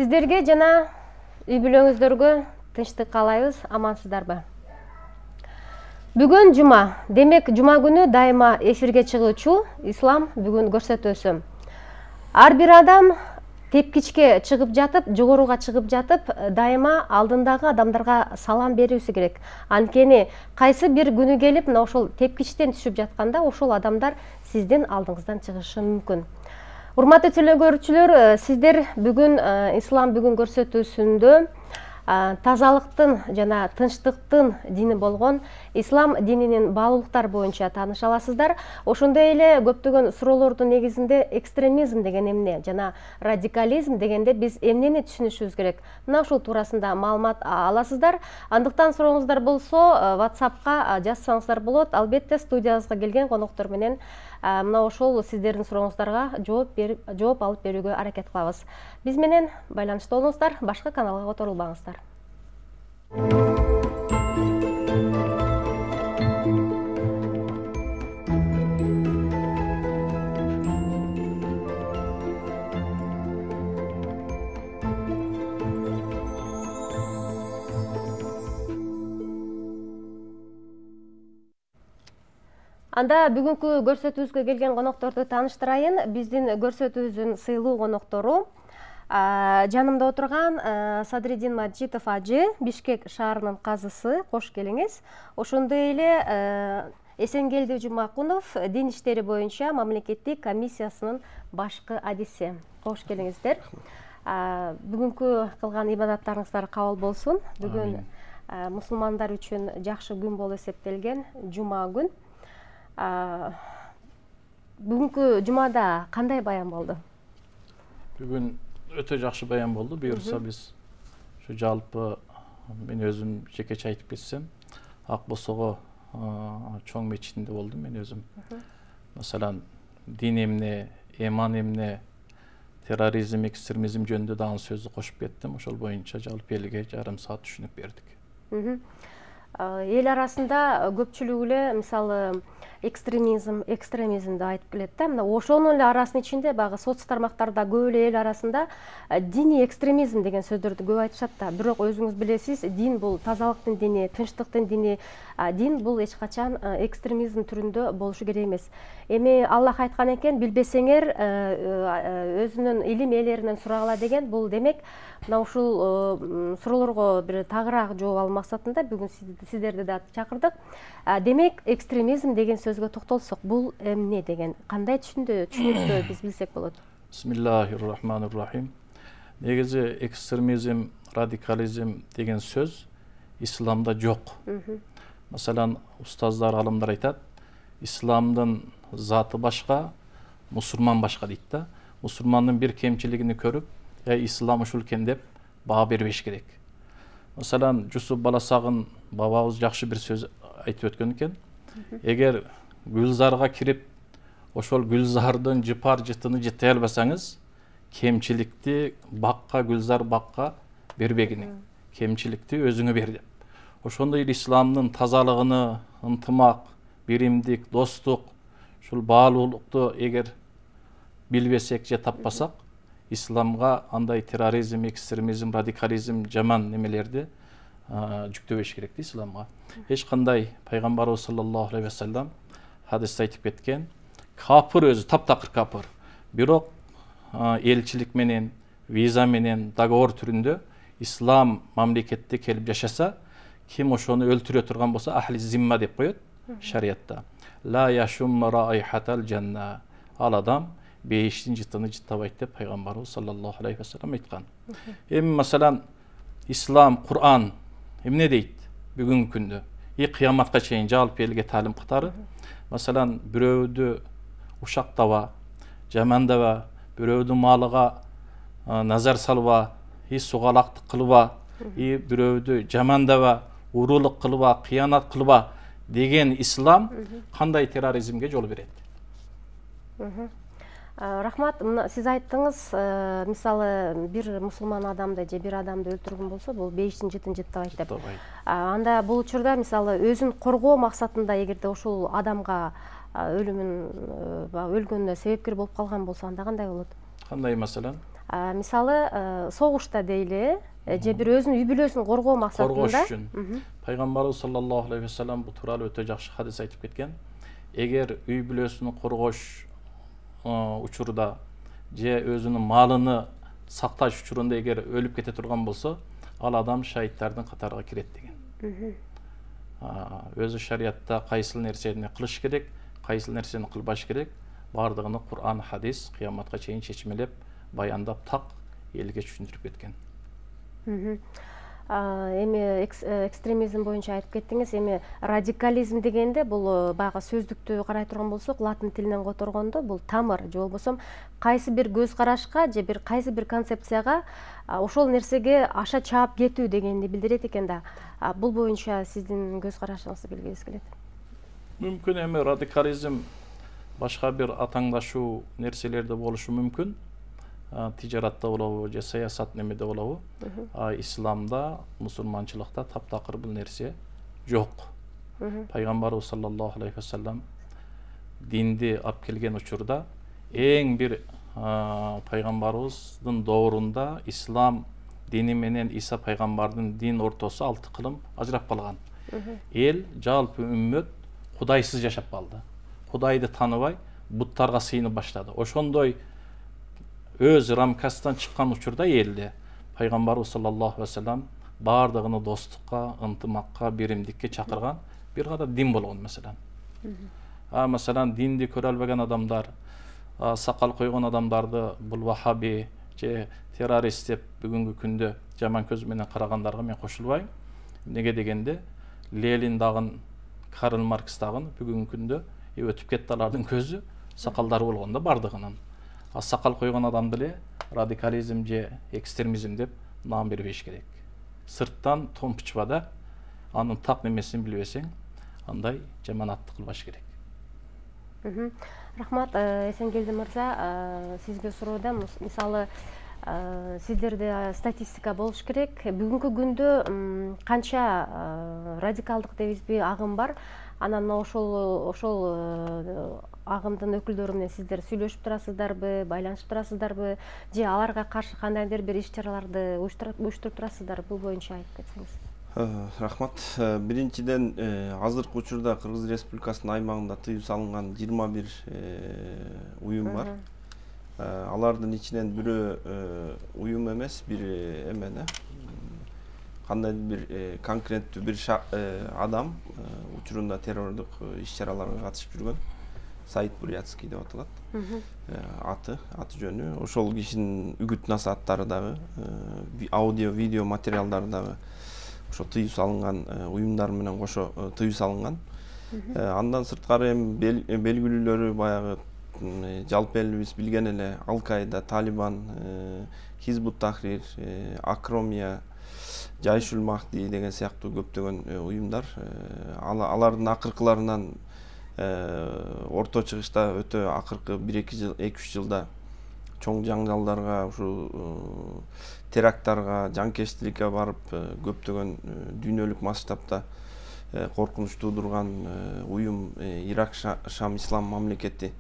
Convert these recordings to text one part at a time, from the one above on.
Сиздерге жана үй бүлөңүздөргө тынчтык каалайбыз, амансыздарбы? Бүгүн жума. Демек, жума күнү дайыма эфирге чыгуучу ислам бүгүн көрсөтүүсү. Ар бир адам тепкичке чыгып жатып, жогоруга чыгып жатып, дайыма алдындагы адамдарга салам берүүсү керек. Анткени кайсы бир күнү келип, мына ошол тепкичтен түшүп жатканда, ошол адамдар сиздин алдыңыздан чыгышы мүмкүн. Урматтуу телекөрүүчүлөр, сиздер бүгүн ислам бүгүн көрсөтүүсүндө тазалыктын жана тынчтыктын дини болгон ислам дининин баалуулуктары боюнча тааныша аласыздар. Ошондой эле көптөгөн суроолордун негизинде экстремизм деген эмне жана радикализм дегенде биз эмнени түшүнүшүбүз керек? Мына ушул туурасында маалымат аласыздар. Андыктан сурооңуздар болсо, WhatsApp'ка жазсаңыздар болот. Албетте студиябызга келген коноктор менен мына ошол сиздердин сурооңуздарга жооп алып берүүгө аракет кылабыз. Биз менен байланышта болуңуздар, башка каналга которулбаңыздар. Анда бүгүнкү көрсөтүүбүзгө келген конокторду тааныштырайын. Биздин көрсөтүүбүздүн сыйлуу коноктору жанымда отурган Садриддин Маджитов ажы, Бишкек шаарынын казысы. Кош келиңиз. Ошондой эле Эсенгелди Жумакунов, дин иштери боюнча мамлекеттик комиссиясынын башкы адиси. Кош келиңиздер. Бүгүнкү кылган ибадаттарыңыздар кабыл болсун. Бүгүн мусулмандар үчүн жакшы күн болуп эсептелген жума күн. Бүгүнкү жумада кандай баян болду? Бүгүн өтө жакшы баян болду. Буюрса биз ушу жалпы мен өзүм жекече айтып кетсем, Ак Босого чоң мечитинде болдум мен өзүм. Маселен, дин эмне, эман эмне, терроризм, экстремизм жөнүндө дагы сөздү кошуп кеттим. Ошол боюнча жалпы элге жарым саат түшүнүк бердик. Эл арасында көпчүлүгү эле мисалы экстремизмди айтып келет да. Мына ошонун эле арасынын ичинде багы соц тармактарда көп эле эл арасында диний экстремизм деген сөздөрдү көп айтышат да. Бирок өзүңүз билесиз, дин бул тазалыктын дини, тынчтыктын дини. Дин бул эч качан экстремизм түрүндө болушу керек эмес. Эми Аллах айткан экен, билбесеңер өзүнүн илим ээлеринен сурагыла деген. Бул демек мына ушул суроолорго бир тагыраак жооп алуу максатында бүгүн сиздерди да чакырдык. Демек, экстремизм деген сөзгө токтолсок, бул эмне деген, кандай түшүнүктө биз билсек болот? Бисмиллахир-рахманир-рахим. Негизи экстремизм, радикализм деген сөз исламда жок. Маселен, устаздар, алымдар айтат, исламдын заты башка, мусулман башка дейт да. Мусулмандын бир кемчилигини көрүп, ислам ушул экен деп баа бербеш керек. Маселен, Жусуп Баласагын бабабыз жакшы бир сөз айтып өткөн экен. Эгер гүлзарга кирип, ошол гүлзардын жыпар жытыны жытай албасаңыз, кемчиликти бакка, гүлзар бакка бербегиниң. Кемчиликти өзүңө бер деп. Ошондой эле исламдын тазалыгыны, ынтымак, биримдик, достук, ушул баалуулукту эгер билбесек же таппасак, исламга андай терроризм, экстремизм, радикализм жаман немелерди жүктөбөш керек да исламга. Эч кандай пайгамбарыбыз саллаллаху алейхи ва саллям хадисте айтып кеткен, капыр өзү таптакыр капыр. Бирок элчилик менен, виза менен, договор түрүндө ислам мамлекетте келип жашаса, ким ошону өлтүрө турган болсо, ахли зимма деп коет шариятта. Ла яшумма раихатал жанна. Ал адам бейиштин жытыны жыттабайт деп пайгамбарыбыз саллаллаху алейхи ва саллям айткан. Эми маселен, ислам, Кур'ан эмне дейт бүгүнкү күндө? Кыяматка чейин жалпы элге таалим катары. Маселен, бирөөдү ушактаба, жамандаба, бирөөдүн малыга назар салба, сугалактык кылба, бирөөдү жамандаба, уруулук кылба, кыянат кылба деген ислам кандай терроризмге жол берет? Рахмат, сиз айттыңыз, мисалы бир мусулман адамды же бир адамды өлтүргөн болсо, бул бейиштин жытын жыттабайт деп. Анда бул учурда мисалы өзүн коргоо максатында эгерде ошол адамга өлгөнүнө себепкер болуп калган болсо, анда кандай болот? Кандай маселен? мисалы согушта дейли, же бир өзүнүн үй бүлөсүн коргоо максатында коргош үчүн. Пайгамбарыбыз саллаллаху алейхи вассалам бул тууралуу өтө жакшы хадис айтып кеткен. Эгер үй бүлөсүн коргош учурда же өзүнүн малыны сакташ учурунда эгер өлүп кете турган болсо, ал адам шаһиттардын катарына кирет деген. Өзү шариятта кайсыл нерсени кылыш керек, кайсыл нерсени кылбаш керек, бардыгын Кур'ан, хадис кыяматка чейин чечмелеп, баяндап так элге түшүндүрүп кеткен. Эми экстремизм боюнча айтып кеттиңиз. Эми радикализм дегенде бул баягы сөздүктү карай турган болсок, латын тилинен которгондо бул тамыр же болбосо кайсы бир көз карашка же кайсы бир концепцияга ошол нерсеге аша чаап кетүү дегенди билдирет экен да. Бул боюнча сиздин көз карашыңызды билгибиз келет. Мүмкүн эми радикализм башка бир атаңдашуу нерселерде болушу мүмкүн. Тижаратта болобу же саясат немеде болобу. Исламда, мусулманчылыкта таптакыр бул нерсе жок. Пайгамбарыбыз саллаллаху алейхи вассалам динди алып келген учурда эң бир пайгамбарыбыздын доорунда ислам дини менен Иса пайгамбардын дин ортосу 6 кылым ажырап калган. Эл, жалпы үммөт кудайсыз жашап калды. Кудайды тааныбай, буттарга сыйынып баштады. Ошондой өз рамкасынан чыккан учурда элде пайгамбарыбыз саллаллаху алейхи вассалам бардыгыны достукка, ынтымакка, биримдикке чакырган бир гана дин болгон маселен. Маселен динди көрө албаган адамдар, сакал койгон адамдарды бул вахаби же террорист деп бүгүнкү күндө жаман көз менен карагандарга мен кошулбайм. Неге дегенде Ленин дагы, Карл Маркс дагы бүгүнкү күндө өтүп кетти алардын көзү сакалдары болгондо бардыгынын. Сакал койгон адамды эле радикализм же экстремизм деп наам бербеш керек. Сырттан томпучпа да, анын так немесин билбесең, андай жаманатты кылбаш керек. Рахмат, Эсенгелди мырза, сизге суроо, мисалы сиздерде статистика болуш керек. Бүгүнкү күндө канча радикалдык дейбизби агым бар? Анан ошол агымдын өкүлдөрү менен сиздер сүйлөшүп турасыздарбы, байланышып турасыздарбы, же аларга каршы кандайдыр бир иш-чараларды уюштуруп турасыздарбы? Бул боюнча айтып кетсеңиз. Рахмат. Биринчиден, азыркы учурда Кыргыз Республикасынын аймагында тыюу салынган 21 уюм бар. Алардын ичинен бирөө уюм эмес, бир эмени кандайдыр бир конкреттүү бир адам учурунда террордук иш-чараларга катышып жүргөн. Саид Бурятский деп аталат. Аты жөнү. Ошол кишинин үгүт насааттары дагы, аудио, видео материалдары дагы ошо тыюу салынган уюмдар менен кошо тыюу салынган. Андан сырткары эми белгилүүлөрү баягы жалпы элибиз билген эле Ал-Каида, Талибан, Хизбут Тахрир, Акромия, Жайшул Махди деген сыяктуу көптөгөн уюмдар. Алардын акыркыларынан орто чыгышта өтө акыркы 1-2 жыл, 2-3 жылда чоң жаңжалдарга, ушул теракттарга, жанкечтиликке барып, көптөгөн дүйнөлүк масштабта коркунуч туудурган уюм Ирак Шам Ислам мамлекети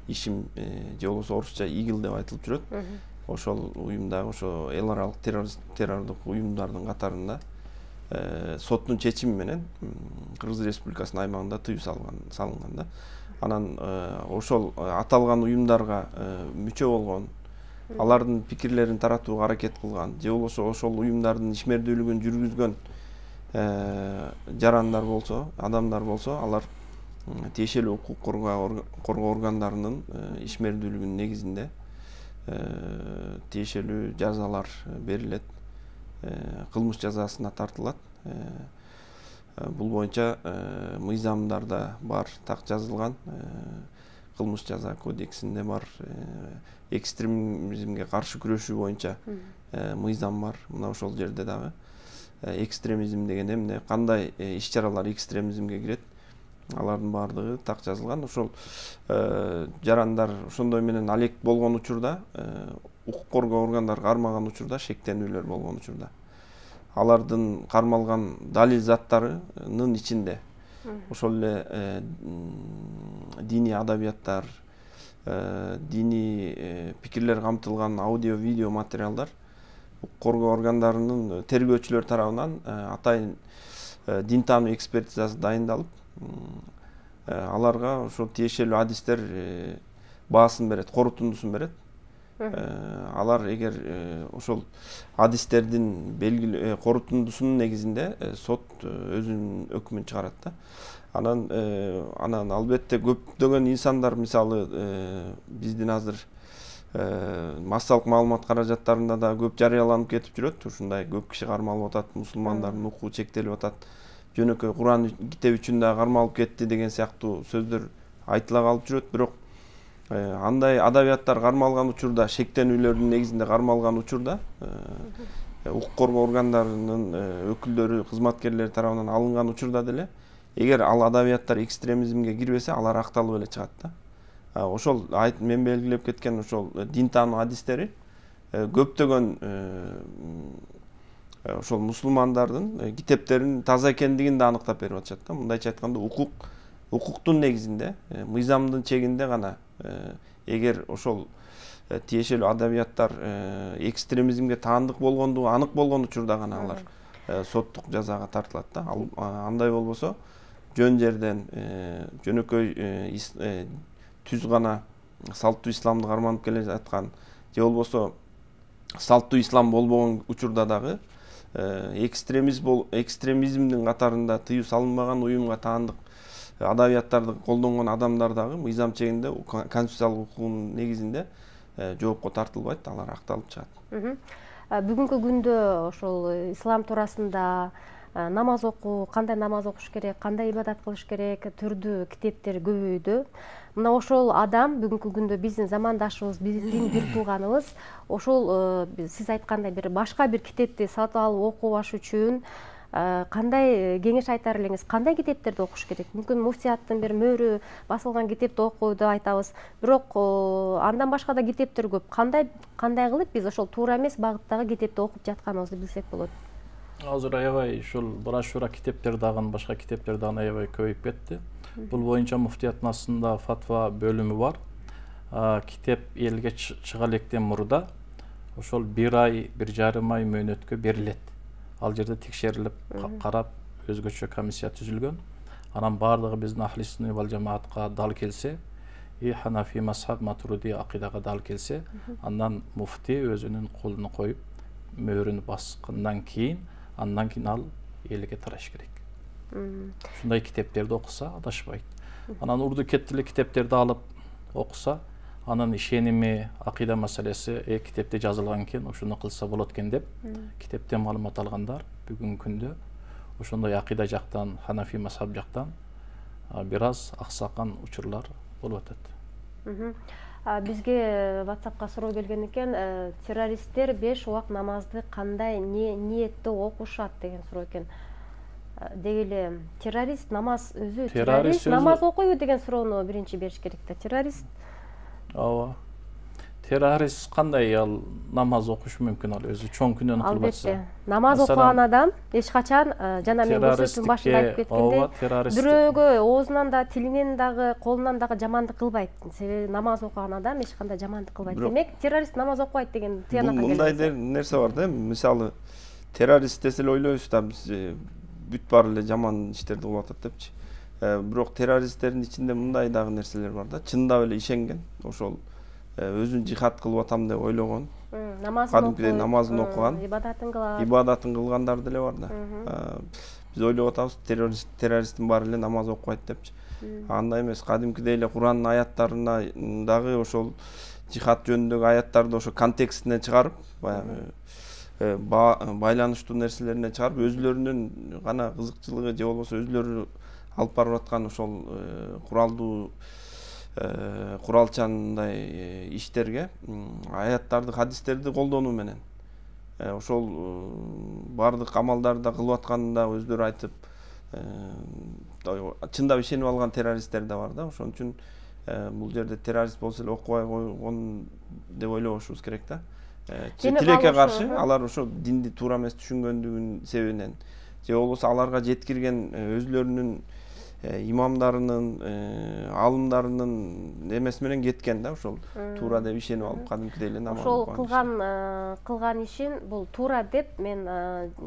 ишим же болбосо орусча ИГИЛ деп айтылып жүрөт. Ошол уюмда ошо эл аралык террордук уюмдардын катарында соттун чечими менен Кыргыз Республикасынын аймагында тыюу салынган да. Анан ошол аталган уюмдарга мүчө болгон, алардын пикирлерин таратууга аракет кылган, же болбосо ошол уюмдардын ишмердүүлүгүн жүргүзгөн жарандар болсо, адамдар болсо, алар тиешелүү укук коргоо органдарынын ишмердүүлүгүнүн негизинде тиешелүү жазалар берилет, кылмыш жазасына тартылат. Бул боюнча мыйзамдарда бар, так жазылган, кылмыш жаза кодексинде бар, экстремизмге каршы күрөшүү боюнча мыйзам бар. Мына ошол жерде дагы экстремизм деген эмне, кандай иш-чаралар экстремизмге кирет, алардын баардыгы так жазылган. Ошол жарандар ошондой менен алек болгон учурда, укук коргоо органдары кармаган учурда, шектенүүлөр болгон учурда, алардын кармалган далил заттарынын ичинде ошол эле диний адабияттар, диний пикирлер камтылган аудио видео материалдар укук коргоо органдарынын тергөөчүлөр тарабынан атайын дин таануу экспертизасы дайындалып, аларга ошол тиешелүү адистер баасын берет, корутундусун берет. Алар эгер ошол адистердин белгилүү корутундусунун негизинде сот өзүнүн өкмүн чыгарат да. Анан албетте көптөгөн инсандар, мисалы биздин азыр массалык маалымат каражаттарында да көп жарыяланып кетип жүрөт. Ушундай көп киши кармалып атат, мусулмандардын укугу чектелип атат, жөнөкөй Куран китеби үчүн да кармалып кетти деген сыяктуу сөздөр айтыла калып жүрөт. Бирок андай адабияттар кармалган учурда, шектенүүлөрдүн негизинде кармалган учурда укук коргоо органдарынын өкүлдөрү, кызматкерлери тарабынан алынган учурда деле эгер ал адабияттар экстремизмге кирбесе, алар акталып эле чыгат да. Ошол мен белгилеп кеткен ошол дин таануу адистери көптөгөн ошол мусулмандардын китептеринин таза экендигин да аныктап берип атышат да. Мындайча айтканда укуктун негизинде, мыйзамдын чегинде гана эгер ошол тиешелүү адабияттар экстремизмге таандык болгондугу анык болгон учурда гана алар соттук жазага тартылат да. Андай болбосо жөн жерден жөнөкөй түз гана салттуу исламды карманып келе жаткан же болбосо салттуу ислам болбогон учурда дагы экстремизмдин катарында тыюу салынбаган уюмга таандык адабияттарды колдонгон адамдар дагы мыйзам чегинде конституциялык укугунун негизинде жоопко тартылбайт, алар акталып чыгат. Бүгүнкү күндө ошол ислам туурасында намаз окуу, кандай намаз окуш керек, кандай ибадат кылыш керек түрдүү китептер көбөйдү. Мына ошол адам бүгүнкү күндө биздин замандашыбыз, биздин бир тууганыбыз ошол сиз айткандай бир башка бир китепти сатып алып окубаш үчүн кандай кеңеш айтар элеңиз? Кандай китептерди окуш керек? Мүмкүн муфтияттын бир мөөрү басылган китепти окуйду айтабыз. Бирок андан башка да китептер көп. Кандай кылып биз ошол туура эмес багыттагы китепти окуп жатканыбызды билсек болот? Азыр аябай ушул брошюра китептер дагы, башка китептер дагы аябай көбөйүп кетти. Бул боюнча муфтияттын астында фатва бөлүмү бар. Китеп элге чыга электен мурда ошол 1 ай, 1,5 ай мөөнөткө берилет. Ал жерде текшерилип, карап, өзгөчө комиссия түзүлгөн. Анан бардыгы биздин ахли сүннат вал жамаатка дал келсе, Ханафи мазхаб, Матуриди акыйдага дал келсе, андан муфти өзүнүн колуна коюп, мөөрүнү баскандан кийин, ал элге тараш керек. Ушундай китептерди окуса адашпайт. Анан урду кеттилик китептерди алып окуса, анын ишеними, акыйда маселеси китепте жазылган экен, ушуну кылса болот экен деп китептен маалымат алгандар бүгүнкү күндө ошондой акыйда жактан, Ханафи мазхаб жактан бир аз аксакан учурлар болуп атат. Бизге WhatsAppка суроо келген экен, террористтер 5 убак намазды кандай ниетте окушат деген суроо экен. Деги эле террорист намаз өзү террорист намаз окуйбу деген суроону биринчи бериш керек да. Террорист ооба. Террорист кандай ал намаз окуш мүмкүн, ал өзү чоң күнөөнү кылып атса. Албетте. Намаз окуган адам эч качан жана мен көрсөттүм башында айтып кеткендей, бирөөгө оозунан да, тилинен дагы, колунан дагы жамандык кылбайт. Себеби намаз окуган адам эч кандай жамандык кылбайт. Демек, террорист намаз окубайт деген тыянакка келет. Мындай нерсе бар да, мисалы террорист десе эле ойлойбуз да биз бүт баары эле жаман иштерди кылып атат депчи. Бирок террористтердин ичинде мындай дагы нерселер бар да, чындап эле ишенген, ошол өзүн жихад кылып атам деп ойлогон, намазын окуган, ибадатын кылгандар деле бар да. Биз ойлоп атабыз террористтин баары эле намаз окубайт депчи. Андай эмес, кадимкидей эле Куранын аяттарына дагы ошол жихад жөнүндөгү аяттарды ошо контекстинен чыгарып, баягы байланыштуу нерселерине чыгарып, өзүлөрүнүн гана кызыкчылыгы же болбосо өзүлөрү алып барып аткан ошол куралчандай иштерге аяттарды, хадистерди колдонуу менен ошол бардык амалдарды да кылып атканын да өздөрү айтып, чындап ишенип алган террористтер да бар да. Ошон үчүн бул жерде террорист болсо эле окубай койгон деп ойлобошубуз керек да. Тилекке каршы алар ошо динди туура эмес түшүнгөндүгүнүн себебинен же болбосо аларга жеткирген өзүлөрүнүн имамдарынын, алымдарынын эмеси менен кеткен да, ошол туура деп ишенип алып кадимкидей эле намаз окуган. Ошол кылган ишин бул туура деп мен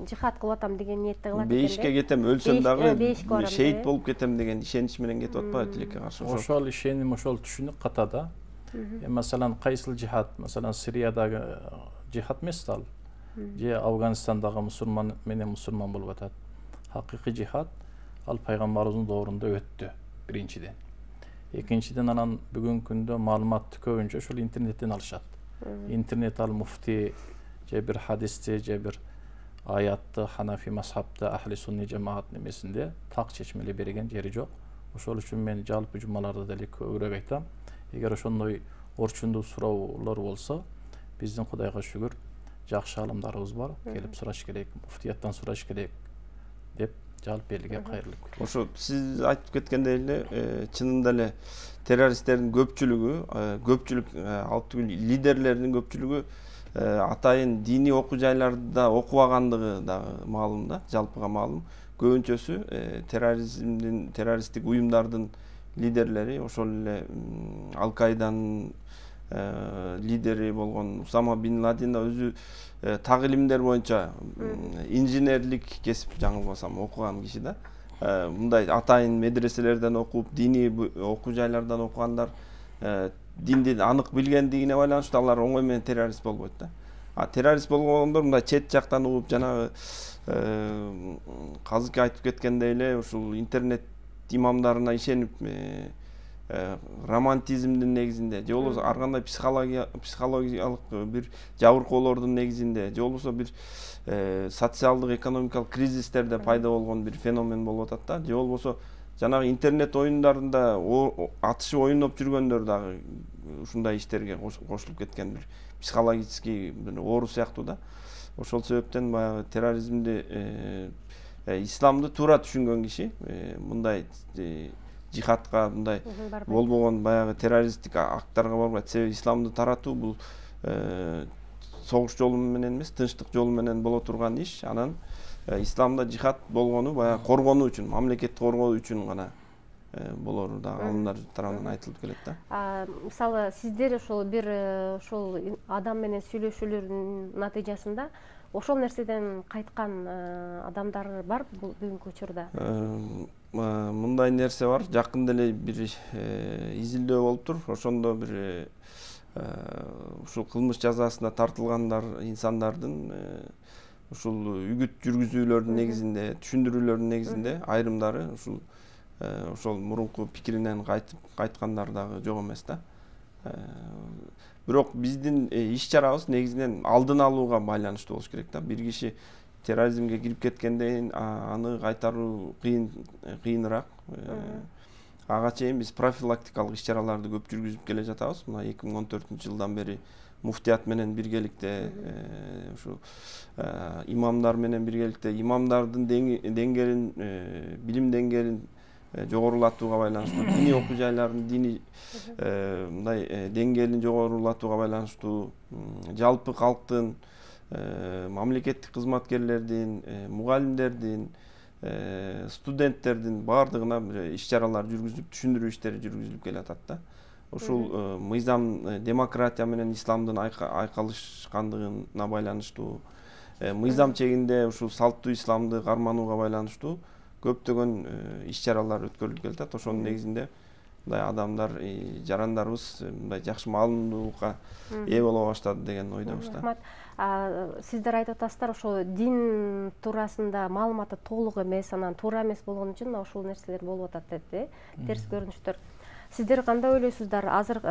жихад кылып атам деген ниетте кылат экен. Бейишке кетем, өлсөм дагы шейит болуп кетем деген ишенич менен кетип атпайбы тилекке каршы. Ошол ишеним, ошол түшүнүк катада. Маселен, кайсыл жихад, маселен, Сириядагы жихад эмес ал. Же Афганистандагы мусулман менен мусулман болуп атат. Хакыйкый жихад ал пайгамбарыбыздын доорунда өттү, биринчиден. Экинчиден, анан бүгүнкү күндө маалыматты көбүнчө ошол интернеттен алышат. Интернет ал муфти же бир хадисти, же бир аятты, Ханафи мазхабты, Ахли сунни жамаат немесинде так чечмелеп берген жери жок. Ошол үчүн мен жалпы жумаларда деле көбүрөөк айтам. Эгер ошондой орчундуу суроолор болсо, биздин Кудайга шүгүр жакшы алымдарыбыз бар, келип сураш керек, муфтияттан сураш керек деп жалпы элге кайрылып келем. Ошо сиз айтып кеткендей эле, чынында эле террористтердин көпчүлүк алып түгүл лидерлердин көпчүлүгү атайын диний окуу жайларда окубагандыгы дагы маалым да, жалпыга маалым. Көбүнчөсү террористтик уюмдардын лидерлери, ошол эле Ал-Каиданын лидери болгон Усама бин Ладен өзү так илимдер боюнча инженерлик кесип, жаңылбасам, окуган киши да. Мындай атайын медреселерден окуп, диний окуу жайлардан окугандар динди анык билгендигине байланыштуу алар оңой менен террорист болбойт да. Террорист болгондор мындай чет жактан угуп, жанагы казыркы айтып кеткендей эле ушул интернет имамдарына ишенип, романтизмдин негизинде, же болбосо ар кандай психологиялык бир жабыркоолордун негизинде, же болбосо бир социалдык экономикалык кризистерде пайда болгон бир феномен болуп атат да, же болбосо жанагы интернет оюндарында атышып оюноп жүргөндөр дагы ушундай иштерге кошулуп кеткен бир психологический бир оору сыяктуу да. Ошол себептен баягы терроризмди, исламды туура түшүнгөн киши мындай жихадка, мындай болбогон баягы террористтик акттарга барбайт. Себеби исламды таратуу бул согуш жолу менен эмес, тынчтык жолу менен боло турган иш. Анан исламда жихад болгону баягы коргонуу үчүн, мамлекетти коргоо үчүн гана болору да алымдар тарабынан айтылып келет да. Мисалы, сиздер ошол бир ошол адам менен сүйлөшүүлөрдүн натыйжасында ошол нерседен кайткан адамдар бар бүгүнкү учурда? Мындай нерсе бар. Жакында эле бир изилдөө болуптур. Ошондо бир ушул кылмыш жазасына тартылгандар инсандардын ушул үгүт жүргүзүүлөрдүн негизинде, түшүндүрүүлөрдүн негизинде айрымдары ошол мурунку пикиринен кайткандар дагы жок эмес да. Бирок биздин иш-чарабыз негизинен алдын алууга байланыштуу болуш керек да. Бир киши терроризмге кирип кеткенден аны кайтаруу кыйыныраак. Ага чейин биз профилактикалык иш-чараларды көп жүргүзүп келе жатабыз. Мына 2014-жылдан бери муфтият менен биргеликте, ушу имамдар менен биргеликте имамдардын деңгээлин, билим деңгээлин жогорулатууга байланыштуу, диний окуу жайлардын диний мындай деңгээлин жогорулатууга байланыштуу, жалпы калктын, мамлекеттик кызматкерлердин, мугалимдердин, студенттердин баардыгына иш-чаралар жүргүзүп, түшүндүрүү иштери жүргүзүлүп келатат да. Ушул мыйзам демократия менен исламдын айкалышкандыгына байланыштуу, мыйзам чегинде ушул салттуу исламды карманууга байланыштуу көптөгөн иш-чаралар өткөрүлүп келатат. Ошонун негизинде мындай адамдар, жарандарыбыз мындай жакшы маалымдуулукка ээ боло баштады деген ойдобуз да. Сиздер айтып атасыздар, ошо дин туурасында маалыматы толук эмес, анан туура эмес болгон үчүн ушул нерселер болуп атат деп, терс көрүнүштөр. Сиздер кандай ойлойсуздар? Азыр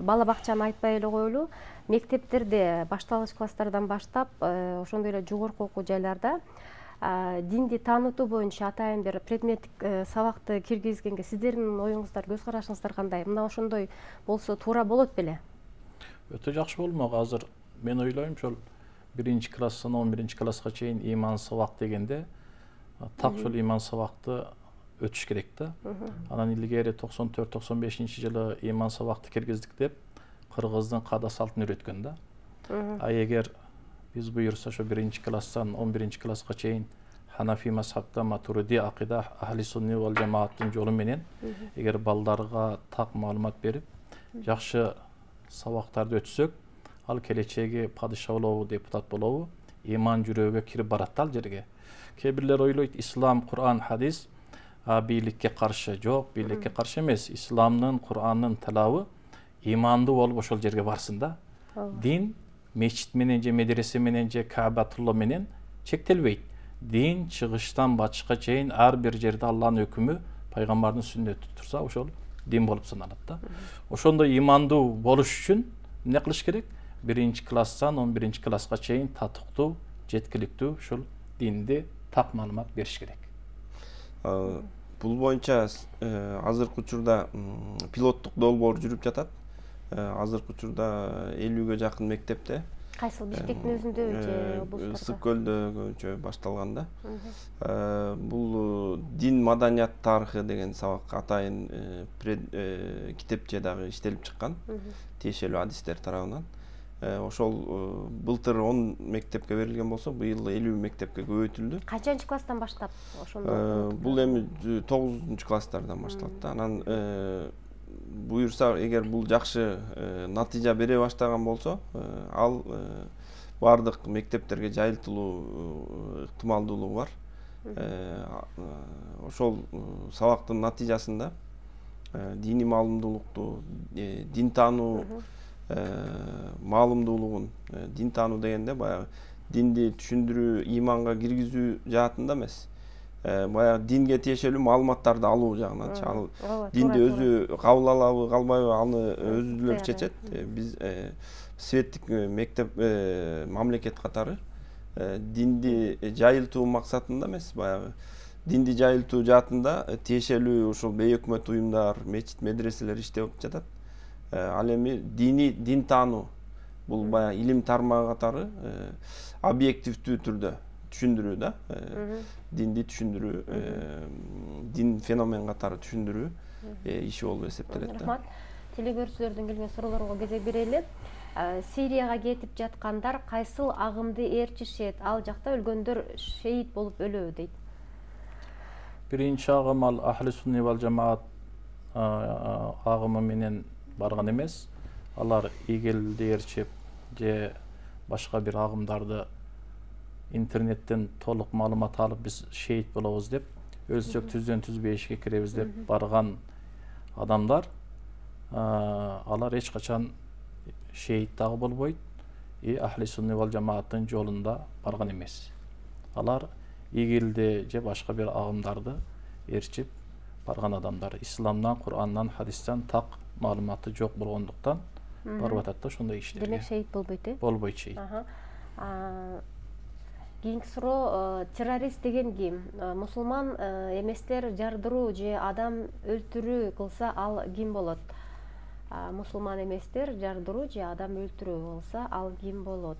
бала бакчаны айтпай эле коелу, мектептерде башталгыч класстардан баштап, ошондой эле жогорку окуу жайларда динди таанытуу боюнча атайын бир предметтик сабакты киргизгенге сиздердин оюңуздар, көз карашыңыздар кандай? Мына ошондой болсо туура болот беле? Өтө жакшы болмок. Азыр мен ойлойм, ошол 1-класстан 11-класска чейин иман сабак дегенде так ошол иман сабакты өтүш керек да. Анан илгери 94-95-жылы иман сабакты киргиздик деп кыргыздын каада салтын үйрөткөн да. Эгер биз буюрса ошо 1-класстан 11-класска чейин Ханафи мазхабта матуриди акыйда ахли сунни вал жамааттын жолу менен эгер балдарга так маалымат берип, жакшы сабактарды өтсөк, ал келечеги падыша болобу, депутат болобу, иман жүрөгүгө кирип барат ал жерге. Кээ бирлер ойлойт, ислам, Кур'ан, хадис бийликке каршы. Жок, бийликке каршы эмес. Исламдын, Кур'андын талабы имандуу болуп ошол жерге барсын да. Дин мечит менен же медресе менен же Каабатулла менен чектелбейт. Дин чыгыштан бачка чейин ар бир жерде Алланын өкүмү, пайгамбардын сүннөтү турса, ошол дин болуп саналат да. Ошондой имандуу болуш үчүн эмне кылыш керек? 1-класстан 11-класска чейин татыктуу, жеткиликтүү ушул динди так маалымат бериш керек. Бул боюнча азыркы учурда пилоттук долбоор жүрүп жатат. Азыркы учурда 50-ге жакын мектепте. Кайсыл Бишкектин өзүндө же облустарда? Ысык көлдө көбүнчө башталган да. Бул дин маданият тарыхы деген сабак атайын китепче дагы иштелип чыккан. Тиешелүү адистер тарабынан. Ошол былтыр 10 мектепке берилген болсо, быйыл 50 мектепке көбөйтүлдү. Канчанчы класстан баштап ошондо? Бул эми 9-класстардан башталат да. Анан буюрса, эгер бул жакшы натыйжа бере баштаган болсо, ал бардык мектептерге жайылтылуу ыктымалдуулугу бар. Ошол сабактын натыйжасында диний маалымдуулукту, дин таануу маалымдуулугун, дин таануу дегенде баягы динди түшүндүрүү, иманга киргизүү жаатында эмес, баягы динге тиешелүү маалыматтарды алуу жагынан. Ал динди өзү кабыл алабы, калбайбы, аны өзүлөр чечет. Биз светтик мектеп мамлекет катары динди жайылтуу максатында эмес, баягы динди жайылтуу жаатында тиешелүү ушул бейөкмөт уюмдар, мечит, медреселер иштеп жатат. Ал эми дин таануу, бул баягы илим тармагы катары объективдүү түрдө түшүндүрүү да, динди түшүндүрүү, дин феномен катары түшүндүрүү иши болуп эсептелет да. Рахмат. Телекөрүүчүлөрдүн келген суроолорго кезек берели. Сирияга кетип жаткандар кайсыл агымды ээрчишет? Ал жакта өлгөндөр шейит болуп өлөбү дейт. Биринчи агым ал ахли сунни вал жамаат агымы менен барган эмес. Алар игелди ээрчип же башка бир агымдарды интернеттен толук маалымат алып биз шейит болобуз деп, өлсөк түздөн түз бейишке киребиз деп барган адамдар, алар эч качан шейит дагы болбойт, ахли сунни вал жамааттын жолунда барган эмес. Алар игилди же башка бир агымдарды ээрчип барган адамдар. Исламдан, Кур'андан, хадистен так маалыматы жок болгондуктан барып атат да ошондой иштерге. Демек шейит болбойт, Болбойт шейит. Кийинки суроо, террорист деген ким? Мусулман эместер жардыруу же адам өлтүрүү кылса ал ким болот? Мусулман эместер жардыруу же адам өлтүрүү кылса ал ким болот?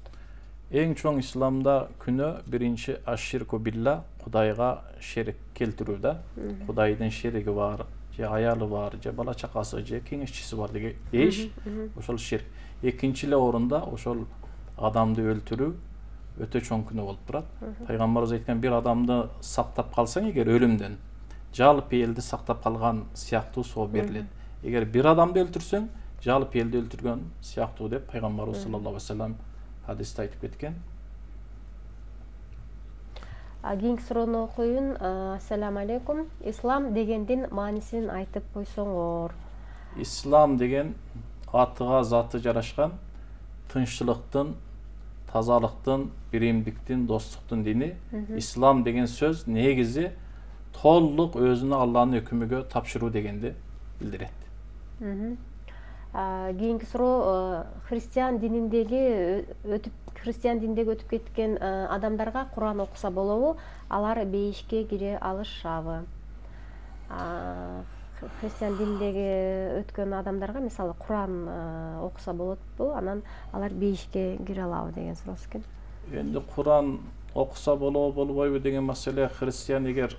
Эң чоң исламда күнөө биринчи аширку билла, Кудайга шерик келтирүү да. Кудайдын шериги бар, же аялы бар, же бала чакасы, же кеңешчиси бар деген эш, ошол ширк. Экинчи эле орунда ошол адамды өлтүрүү өтө чоң күнөө болуп турат. Пайгамбарыбыз айткан, бир адамды сактап калсаң эгер өлүмдөн, жалпы элди сактап калган сыяктуу соо берилет. Эгер бир адамды өлтүрсөң, жалпы элди өлтүргөн сыяктуу деп пайгамбарыбыз саллаллаху алейхи вассалам хадисте айтып кеткен. Кийинки суроону окуйун. Ассаламу алейкум. Ислам дегендин маанисин айтып койсоңор. Ислам деген атыга заты жарашкан тынччылыктын, тазалыктын, биримдиктин, достуктун дини. Ислам деген сөз негизи толук өзүнү Алланын өкүмүгө тапшыруу дегенди билдирет. Кийинки суроо, христиан дининдеги өтүп кеткен адамдарга Кур'ан окуса болобу? Алар бейишке кире алышабы? Христиан дининдеги өткөн адамдарга мисалы Кур'ан окуса болотпу? Анан алар бейишке кире алабы деген суроосу экен. Энди Кур'ан окуса болобу, болбойбу деген маселе, христиан эгер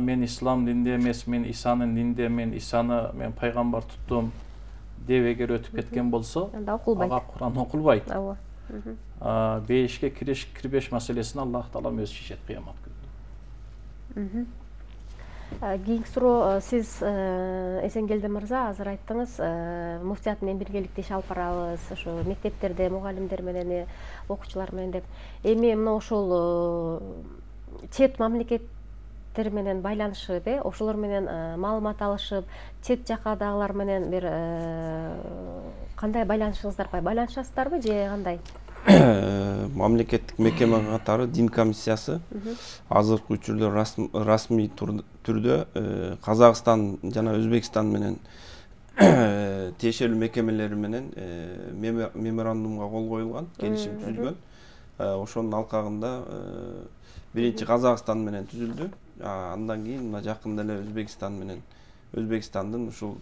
мен ислам дининде эмес, мен Исанын дининде, мен пайгамбар туттум деп эгер өтүп кеткен болсо, ага Кур'ан окулбайт. Бейишке кириш кирбеш маселесин Аллах Таала өзү чечет кыямат күнүндө. Кийинки суроо, сиз Эсенгелди мырза азыр айттыңыз, муфтият менен биргеликте иш алып барабыз, ошо мектептерде мугалимдер менен, окуучулар менен деп. Эми мына ошол чет мамлекеттер менен байланышып, ошолор менен маалымат алышып, чет жакадагылар менен бир кандай байланышыңыздар бар? Байланышасыздарбы же кандай? Мамлекеттик мекеме катары дин комиссиясы азыркы учурда расмий түрдө Казакстан жана Өзбекстан менен тиешелүү мекемелери менен меморандумга кол коюлган, келишим түзүлгөн. Ошонун алкагында биринчи Казакстан менен түзүлдү. Андан кийин мына жакында эле Өзбекстан менен Өзбекстандын ушул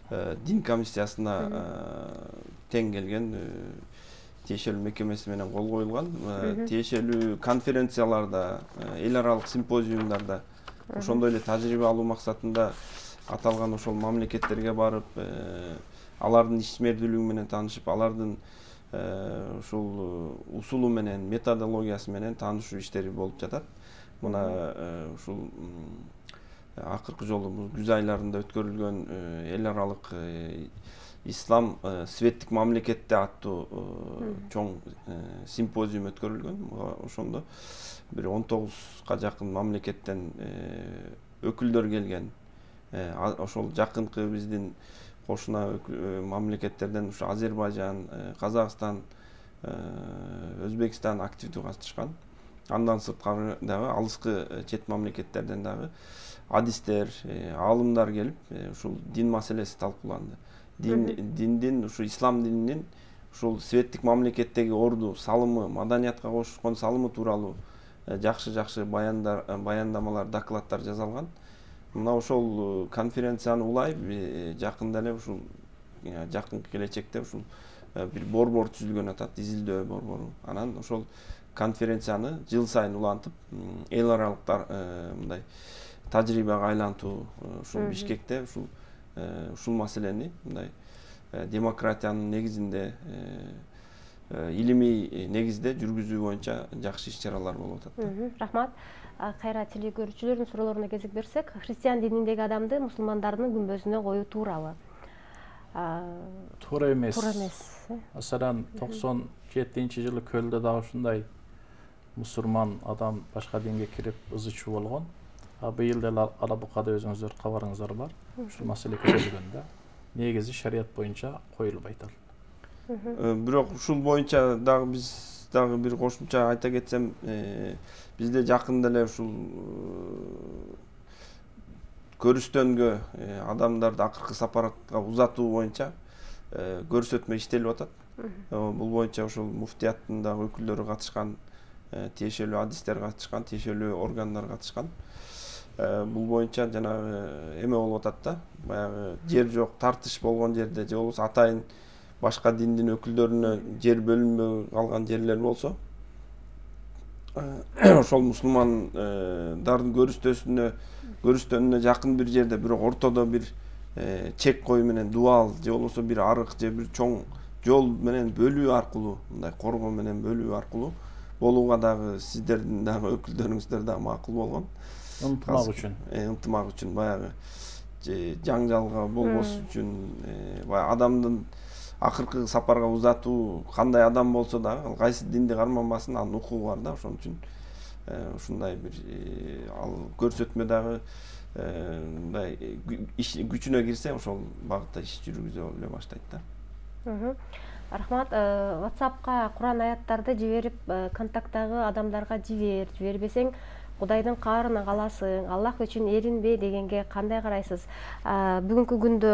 дин комиссиясына тең келген тиешелүү мекемеси менен кол коюлган. Тиешелүү конференцияларда, эл аралык симпозиумдарда ошондой эле тажрыйба алуу максатында аталган ошол мамлекеттерге барып, алардын ишмердүүлүгү менен таанышып, алардын ушул усулу менен, методологиясы менен таанышуу иштери болуп жатат. Мына ушул акыркы жолу күз айларында өткөрүлгөн эл аралык Ислам светтик мамлекетте аттуу чоң симпозиум өткөрүлгөн. Ошондо бир 19га жакын мамлекеттен өкүлдөр келген. Ошол жакынкы биздин кошуна мамлекеттерден ушу Азербайжан, Казакстан, Өзбекстан активдүү катышкан. Андан сырткары дагы алыскы чет мамлекеттерден дагы адистер, аалымдар келип, ушул дин маселеси талкууланды. Диндин, ушу ислам дининин ушул светтик мамлекеттеги орду, салымы, маданиятка кошкон салымы тууралуу жакшы баяндамалар, докладдар жасалган. Мына ошол конференцияны улай жакында эле ушул жакынкы келечекте ушул бир борбор түзүлгөн атат, изилдөө борбору. Анан ошол конференцияны жыл сайын улантып, эл аралык мындай тажрыйбага айлантуу ушул Бишкекте ушул маселени мындай демократиянын негизинде, илимий негизде жүргүзүү боюнча жакшы иш-чаралар болуп атат. Рахмат. Кайра телекөрүүчүлөрдүн суроолоруна кезек берсек, христиан дининдеги адамды мусулмандардын күмбөзүнө коюу туурабы? Туура эмес. Туура эмес. Маселен, 97-жылы Көлдө дагы ушундай мусулман адам башка динге кирип ызычуу болгон. Быйыл деле Алабукада өзүңүздөр кабарыңыздар бар. Ушул маселе көтөрүлгөн да. Негизи шарият боюнча коюлбайт ал. Бирок ушул боюнча дагы биз дагы бир кошумча айта кетсем, бизде жакында эле ушул көрүстөнгө адамдарды акыркы сапарга узатуу боюнча көрсөтмө иштелип атат. Бул боюнча ушул муфтияттын дагы өкүлдөрү катышкан, тиешелүү адистер катышкан, тиешелүү органдар катышкан. Бул боюнча жанагы эме болуп атат да, баягы жер жок, тартыш болгон жерде же болбосо атайын башка диндин өкүлдөрүнө жер бөлүнбөй калган жерлер болсо, ошол мусулмандардын көрүстөнүнө жакын бир жерде, бирок ортодо бир чек кою менен дубал же болбосо бир арык же бир чоң жол менен бөлүү аркылуу, мындай коргоо менен бөлүү аркылуу болууга дагы сиздердин дагы өкүлдөрүңүздөр дагы макул болгон. Ынтымак үчүн баягы жаңжалга болбош үчүн, баягы адамдын акыркы сапарга узатуу кандай адам болсо дагы, кайсы динди карманбасын, анын укугу бар да. Ошон үчүн ушундай бир ал көрсөтмө дагы мындай күчүнө кирсе, ошол багытта иш жүргүзө эле баштайт да. Рахмат. WhatsApp'ка Куран аяттарды жиберип, контакттагы адамдарга жибербесең, Кудайдын каарына каласың, Аллах үчүн эринбе дегенге кандай карайсыз? Бүгүнкү күндө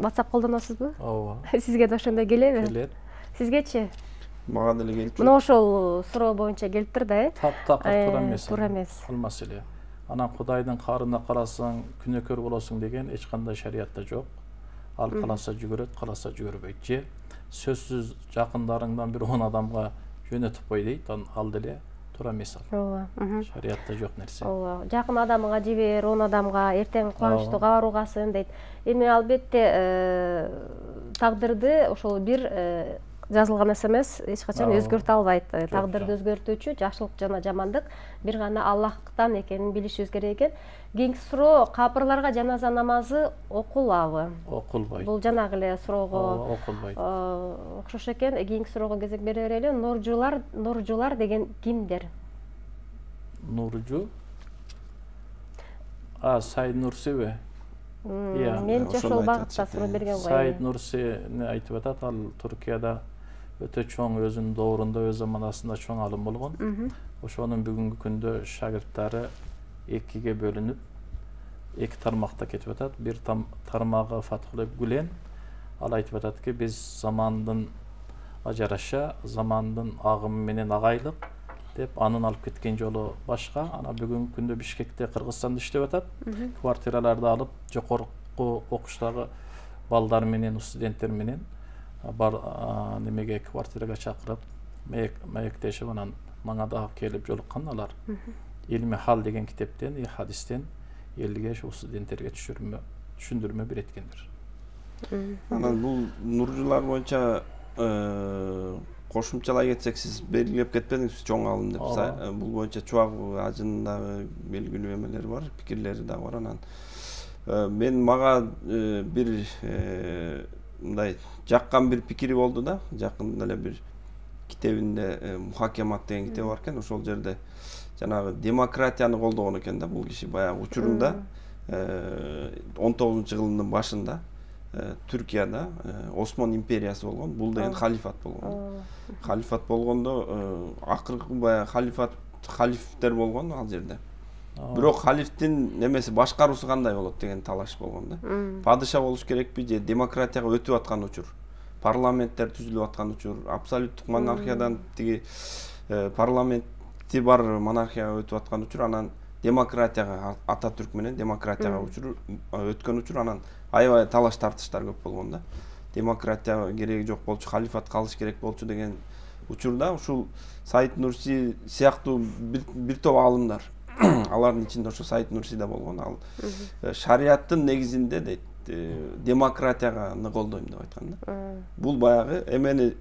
WhatsApp колдоносузбу? Ооба. Сизге да ошондой келеби? Келет. Сизгечи? Мага деле келип. Мына ошол суроо боюнча келиптир да, Таптакыр туура эмес. Туура эмес. Ал маселе. Анан Кудайдын каарына карасаң, күнөөкөр болосуң деген эч кандай шариятта жок. Ал каласа жүгүрөт, каласа жүгүрбөйт. Же сөзсүз жакындарыңдан бир 10 адамга жөнөтүп кой дейт, ал деле туура эмес ал. Ооба. Шариятта жок нерсе. Ооба. Жакын адамга жибер, 10 адамга эртең кубанычтуу кабар угасын дейт. Эми албетте тагдырды ошол бир жазылган нерсе эмес, эч качан Ооба. өзгөртө албайт. Тагдырды жок. өзгөртүүчү жакшылык жана жамандык бир гана Аллахтан экенин билишибиз керек экен. Кийинки суроо, капырларга жаназа намазы окулабы? Окулбайт. Бул жанагы эле суроого Окулбайт. окшош экен. Кийинки суроого кезек бере берели. Нуржулар деген кимдер? Нуржу? Сайд Нурсиби? Менчи ошол багытта суроо берген го. Сайд Нурсини айтып атат, ал Туркияда өтө чоң, өзүнүн доорунда, өз заманасында чоң алым болгон. Ошонун бүгүнкү күндө шагирттери экиге бөлүнүп, эки тармакта кетип атат. Бир тармагы Фатхулла Гүлен, ал айтып ататки, биз замандын жараша, замандын агымы менен агайлык деп анын алып кеткен жолу башка. Ана бүгүнкү күндө Бишкекте, Кыргызстанда иштеп атат. Квартираларды алып, жогорку окуштагы балдар менен, студенттер менен бар немеге квартирага чакырып, маектешип, анан мага дагы келип жолуккан алар. Илми хал деген китептен, хадистен элге ошол студенттерге түшүндүрмө береткендир. Анан бул нуржулар боюнча кошумчалай кетсек, сиз белгилеп кетпедиңизби чоң алым деп. Бул боюнча Чубак ажынын дагы белгилүү эмелери бар, пикирлери дагы бар. Анан мага бир мындай жаккан бир пикири болду да, жакында эле бир китебинде Мухакемат деген китеби бар экен. Ошол жерде жанагы демократияны колдогон экен да бул киши. Баягы учурунда 19-жылдын башында Түркияда Осман империясы болгон. Бул деген халифат болгон. Халифат болгондо акыркы баягы халифтер болгон ал жерде. Бирок халифтин немеси башкаруусу кандай болот деген талаш болгон да. Падыша болуш керекпи же демократияга өтүп аткан учур, парламенттер түзүлүп аткан учур, абсолюттук монархиядан тиги парламенти бар монархияга өтүп аткан учур, анан демократияга Ататүрк менен демократияга өткөн учур, анан аябай талаш тартыштар көп болгон да. Демократия кереги жок болчу, халифат калыш керек болчу деген учурда ушул Сайд Нурси сыяктуу бир топ аалымдар, алардын ичинде ошо Сайд Нурси да болгон. Ал шариаттын негизинде дейт, демократияга колдойм деп айткан да. Бул баягы эмени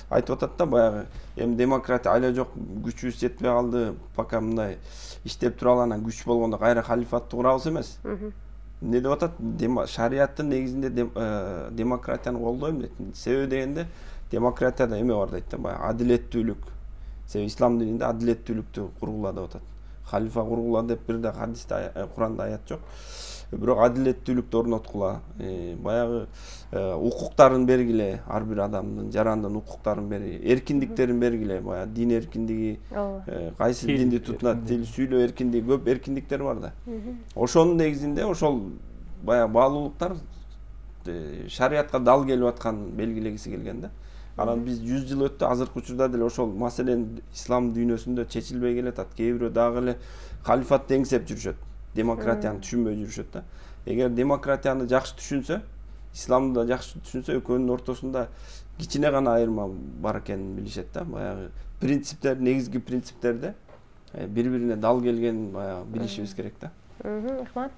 айтып атат да, баягы эми демократия айла жок, күчүбүз жетпей калды, пока мындай иштеп тура алган, күч болгондо кайра халифатты курабыз эмес. Эмне деп атат? Шариаттын негизинде демократияны колдойм дейт. Себеби дегенде демократияда эме бар дейт да, баягы адилеттүүлүк. Себеби ислам дининде адилеттүүлүктү кургула деп атат. Халифа кургула деп бир да хадисте, Куранда аят жок. Бирок адилеттүүлүктү орноткула, баягы укуктарын бергиле, ар бир адамдын жарандын укуктарын бери, эркиндиктерин бергиле, баягы дин эркиндиги, кайсы динди тутунат, тил сүйлөө эркиндиги, көп эркиндиктер бар да. Ошонун негизинде ошол баягы баалуулуктар шариатка дал келип аткан белгилегиси келген да. Анан биз 100 жыл өттү, азыркы учурда деле ошол маселен ислам дүйнөсүндө чечилбей келатат. Кээ бирөө дагы эле халифатты эңсеп жүрүшөт, демократияны түшүнбөй жүрүшөт да. Эгер демократияны жакшы түшүнсө, исламды да жакшы түшүнсө, экөөнүн ортосунда кичине гана айырма бар экенин билишет да. Баягы принциптер, негизги принциптерде бири-бирине дал келгенин баягы билишибиз керек да. Рахмат.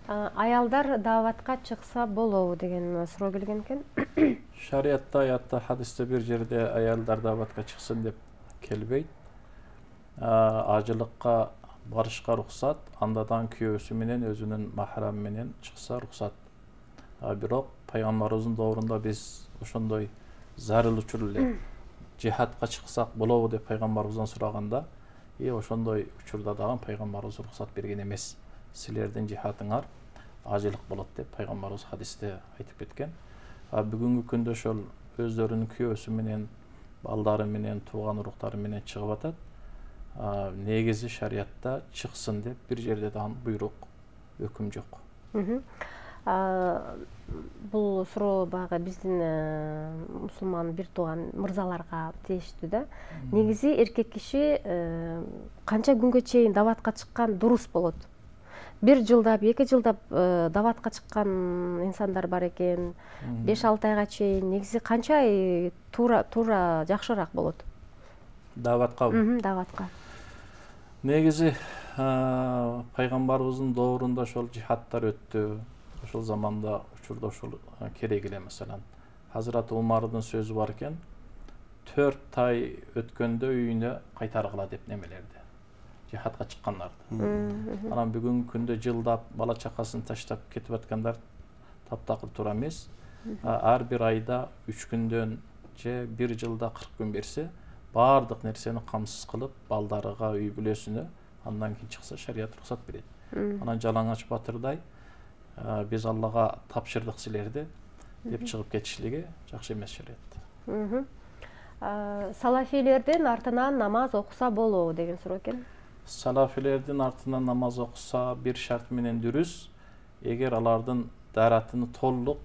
Аялдар дааватка чыкса болобу деген суроо келген экен. Шариатта, аятта, хадисте бир жерде аялдар дааватка чыксын деп келбейт. Ажылыкка барышка рухсат, андан күйөөсү менен, өзүнүн махрамы менен чыкса рухсат. Бирок пайгамбарыбыздын доорунда биз ошондой зарыл учур эле жихадка чыксак болобу деп пайгамбарыбыздан сураганда, ошондой учурда дагы пайгамбарыбыз рухсат берген эмес. Силердин жихадыңар ажылык болот деп пайгамбарыбыз хадисте айтып кеткен. Бүгүнкү күндө ошол өздөрүнүн күйөөсү менен, балдары менен, тууган уруктары менен чыгып атат. Негизи шариатта чыксын деп бир жерде дагы буйрук, өкүм жок. Бул суроо баягы биздин мусулман бир тууган мырзаларга тийиштүү да. Негизи эркек киши канча күнгө чейин дааватка чыккан дурус болот? 1 жылдап, 2 жылдап дааватка чыккан инсандар бар экен. 5-6 айга чейин негизи канча ай туура жакшыраак болот? Дааватка? Дааватка. Негизи пайгамбарыбыздын доорунда ошол жихадтар өттү. Ошол заманда учурда ошол керек эле. Маселен, Hazrat Умардын сөзү бар экен. 4 ай өткөндө үйүнө кайтаргыла деп немелерди, жихадка чыккандарды. Анан бүгүнкү күндө жылдап бала чакасын таштап кетип аткандар таптакыр туура эмес. Ар бир айда 3 күндөн же 1 жылда 40 күн берсе, баардык нерсени камсыз кылып, балдарыга, үй бүлөсүнө, андан кийин чыкса шарият уруксат берет. Анан жалаңач батырдай биз Аллага тапшырдык силерди деп чыгып кетишлиги жакшы эмес шарият. Салафилердин артынан намаз окуса болобу деген суроо экен. Салафилердин артынан намаз окуса бир шарт менен дұрыс, эгер алардын даратыны толук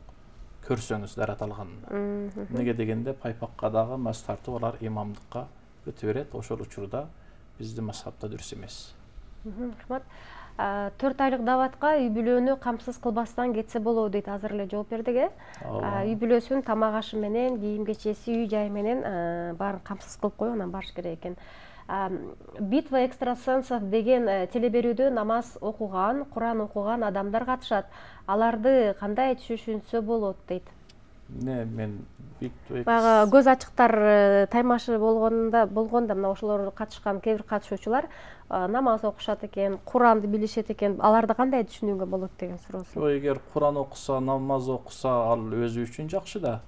көрсөңүз, дарат алганын. Неге дегенде пайпакка дагы мас тартып алар имамдыкка өтө берет. Ошол учурда биздин мазхабта дұрыс эмес. Рахмат. 4 айлык даватка үй бүлөнү камсыз кылбастан кетсе болобу дейт, азыр эле жооп бердик, Үй бүлөсүн тамак ашы менен, кийим кечеси, үй жай менен баарын камсыз кылып коюп анан барыш керек экен. Битва экстрасенсов деген телеберүүдө намаз окуган, Куран окуган адамдар катышат. Аларды кандай түшүнсө болот дейт. Мен Бага көз ачыктар таймашы болгондо мына ошолор катышкан кээ бир катышуучулар намаз окушат экен, Куранды билишет экен. Аларды кандай түшүнүүгө болот деген суроосу. Эгер Куран окуса, намаз окуса, ал өзү үчүн жакшы да.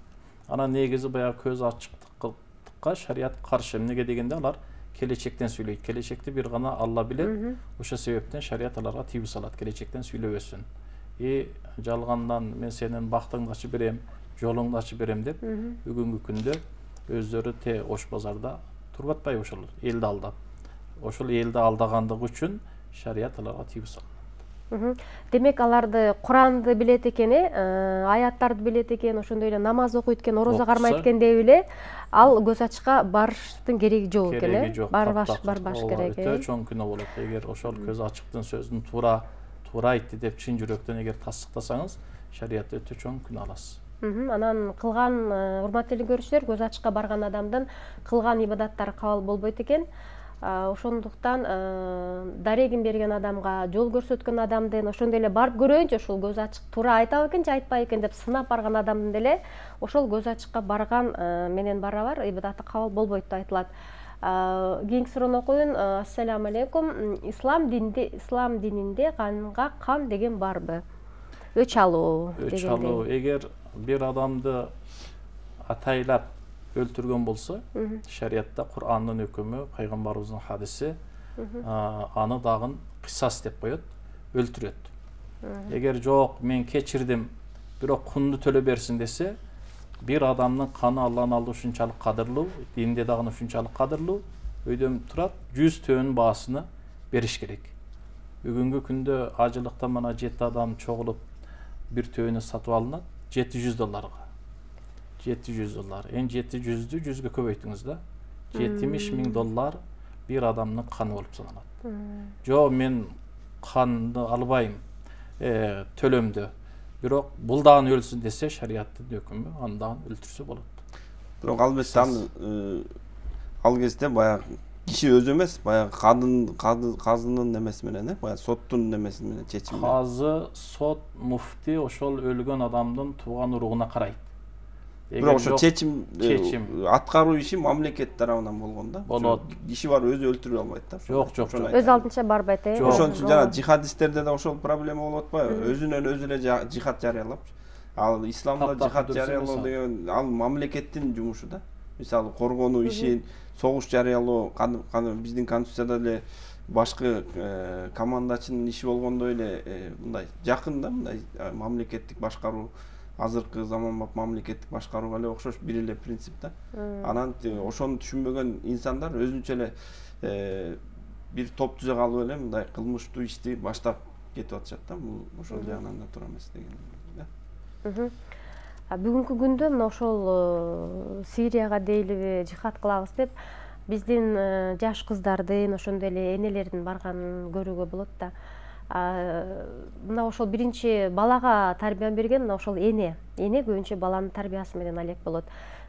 Анан негизи баягы көз ачыктыкка шарият каршы. Эмнеге дегенде алар келечектен сүйлөйт. Келечекти бир гана Алла билет. Ошол себептен шарият аларга тийбей салат, келечектен сүйлөбөсүн. Жалгандан мен сенин бактыңды ачып берем, жолуңду ачып берем деп бүгүнкү күндө өздөрү ош базарда туруп атпайбы ошолор, элди алдап. Ошол элди алдагандыгы үчүн шарият аларга тийбей салат. Демек аларды Куранды билет экен, аяттарды билет экен, ошондой эле намаз окуйт экен, орозо кармайт экен деп эле ал көз ачыкка барыштын кереги жок экен, Кереги жок. Барбаш керек. Өтө чоң күнөө болот. Эгер ошол көз ачыктын сөзүн туура айтты деп чын жүрөктөн эгер тасдыктасаңыз, шариятта өтө чоң күнөө аласыз. Анан кылган, урматтуу көрүүчүлөр, көз ачыкка барган адамдын кылган ибадаттары кабыл болбойт экен. Ошондуктан дарегин берген адамга, жол көрсөткөн адамдын ошондой эле барып көрөйүнчү, ошол көз ачык туура айтабы экен же айтпайбы экен деп сынап барган адамдын деле ошол көз ачыкка барган менен барабар ибадаты кабыл болбойт деп айтылат. Кийинки суроону окуйун. Ассаламу алейкум. Ислам дининде канга кан деген барбы? Өч алуу дегендей. Эгер бир адамды атайлап өлтүргөн болсо, шариятта Кур'андын өкүмү, пайгамбарыбыздын хадиси аны дагы кысас деп коет, өлтүрөт. Эгер жок, мен кечирдим, бирок кунду төлө берсин десе, бир адамдын каны Алланын алдында ушунчалык кадырлуу, динде дагы ушунчалык кадырлуу, өйдөн турат 100 төөнүн баасына бериш керек. Бүгүнкү күндө ажылыкта мына 7 адам чогулуп бир төөнү сатып алынат $700. $700. Эн $700'дү 100ге көбөйтүңүз да. $70,000 бир адамдын каны болуп саналат. Жо, мен канды албайм, төлөмдү. Бирок бул дагы өлсүн десе, шариаттын өкүмү аны дагы өлтүрсө болот. Бирок албетте ал кезде баягы киши өзү эмес, баягы казынын немеси менен, баягы соттун немеси менен чечим. Казы, сот, муфти ошол өлгөн адамдын тууган уругуна карайт. Бирок ошо чечим аткаруу иши мамлекет тарабынан болгондо. Болот. Киши бар өзү өлтүрө албайт да. Жок. Өз алдынча барбайт. Ошон үчүн жана жихадисттерде да ошол проблема болуп атпайбы? Өзүнөн өзү эле жихад жарыялап. Ал исламда жихад жарыялоо деген ал мамлекеттин жумушу да. Мисалы коргонуу ишин, согуш жарыялоо, биздин конституцияда эле башкы командачынын иши болгондой эле мындай жакын да, мындай мамлекеттик башкаруу, азыркы заманбап мамлекеттик башкарууга эле окшош бир эле принцип да. Анан ошону түшүнбөгөн инсандар өзүнчө эле бир топ түзө калып эле мындай кылмыштуу ишти баштап кетип атышат да. Бул ошол жагынан да туура эмес деген да. Бүгүнкү күндө мына ошол Сирияга дейлиби жихад кылабыз деп биздин жаш кыздардын, ошондой эле энелердин барганын көрүүгө болот да. Мына ошол биринчи балага тарбия берген мына ошол эне көбүнчө баланын тарбиясы менен алек болот.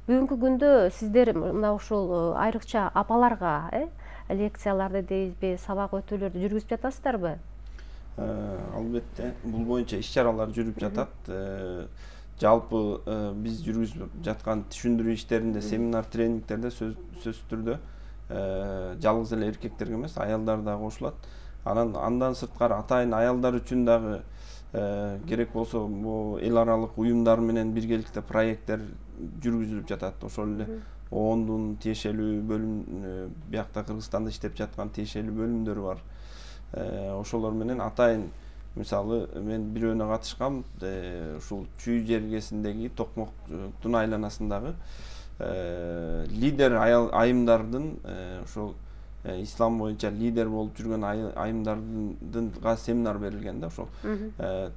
Бүгүнкү күндө сиздер мына ошол айрыкча апаларга лекцияларды дейбизби, сабак өтүүлөрдү жүргүзүп жатасыздарбы? Албетте, бул боюнча иш чаралар жүрүп жатат. жалпы биз жүргүзүп жаткан түшүндүрүү иштеринде, семинар, тренингтерде сөзсүз түрдө жалгыз эле эркектерге эмес, аялдар да кошулат. Андан сырткары атайын аялдар үчүн дагы керек болсо бул эл аралык уюмдар менен биргеликте проекттер жүргүзүлүп жатат. Ошол эле ООНдун тиешелүү бөлүм, биякта Кыргызстанда иштеп жаткан тиешелүү бөлүмдөрү бар. Ошолор менен атайын, мисалы мен бирөөнө катышкам, ушул Чүй жергесиндеги Токмоктун айланасындагы лидер айымдардын, ошол ислам боюнча лидер болуп жүргөн айымдардынга семинар берилген да, ошол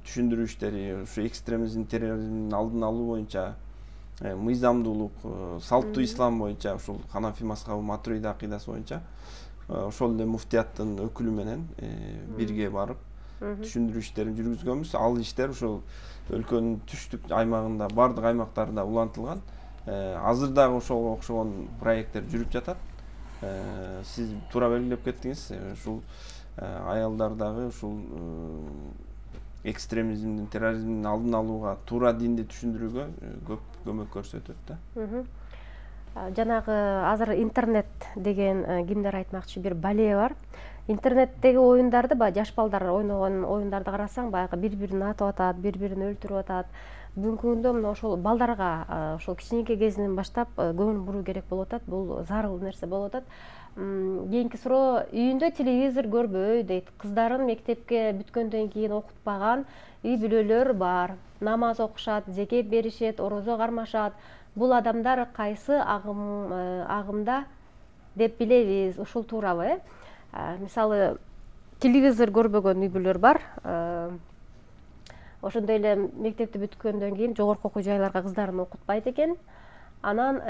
түшүндүрүү иштери, ушу экстремизм, терроризмдин алдын алуу боюнча, мыйзамдуулук, салттуу ислам боюнча, ушул Ханафи мазхабы, Матуриди акыйдасы боюнча ошол эле муфтияттын өкүлү менен бирге барып түшүндүрүү иштерин жүргүзгөнбүз. Ал иштер ошол өлкөнүн түштүк аймагында, бардык аймактарда улантылган. Азыр дагы ошого окшогон проекттер жүрүп жатат. Сиз туура белгилеп кеттиңиз. Ушул аялдардагы ушул экстремизмдин, терроризмдин алдын алууга, туура динди түшүндүрүүгө көп көмөк көрсөтөт да. Жанагы азыр интернет деген кимдер айтмакчы бир бале бар. Интернеттеги оюндарды, жаш балдар ойногон оюндарды карасаң, баягы бири-бирин атып атат, бири-бирин өлтүрүп атат. Бүгүнкү күндө мына ошол балдарга ошол кичинекей кезинен баштап көңүл буруу керек болуп атат. Бул зарыл нерсе болуп атат. Кийинки суроо, үйүндө телевизор көрбөй дейт. Кыздарын мектепке бүткөндөн кийин окутпаган үй бүлөлөр бар. Намаз окушат, зекет беришет, орозо кармашат. Бул адамдар кайсы агымда деп билебиз? Ушул туурабы? Мисалы, телевизор көрбөгөн үй бүлөлөр бар. Ошондой эле мектепти бүткөндөн кийин жогорку окуу жайларга кыздарын окутпайт экен. Анан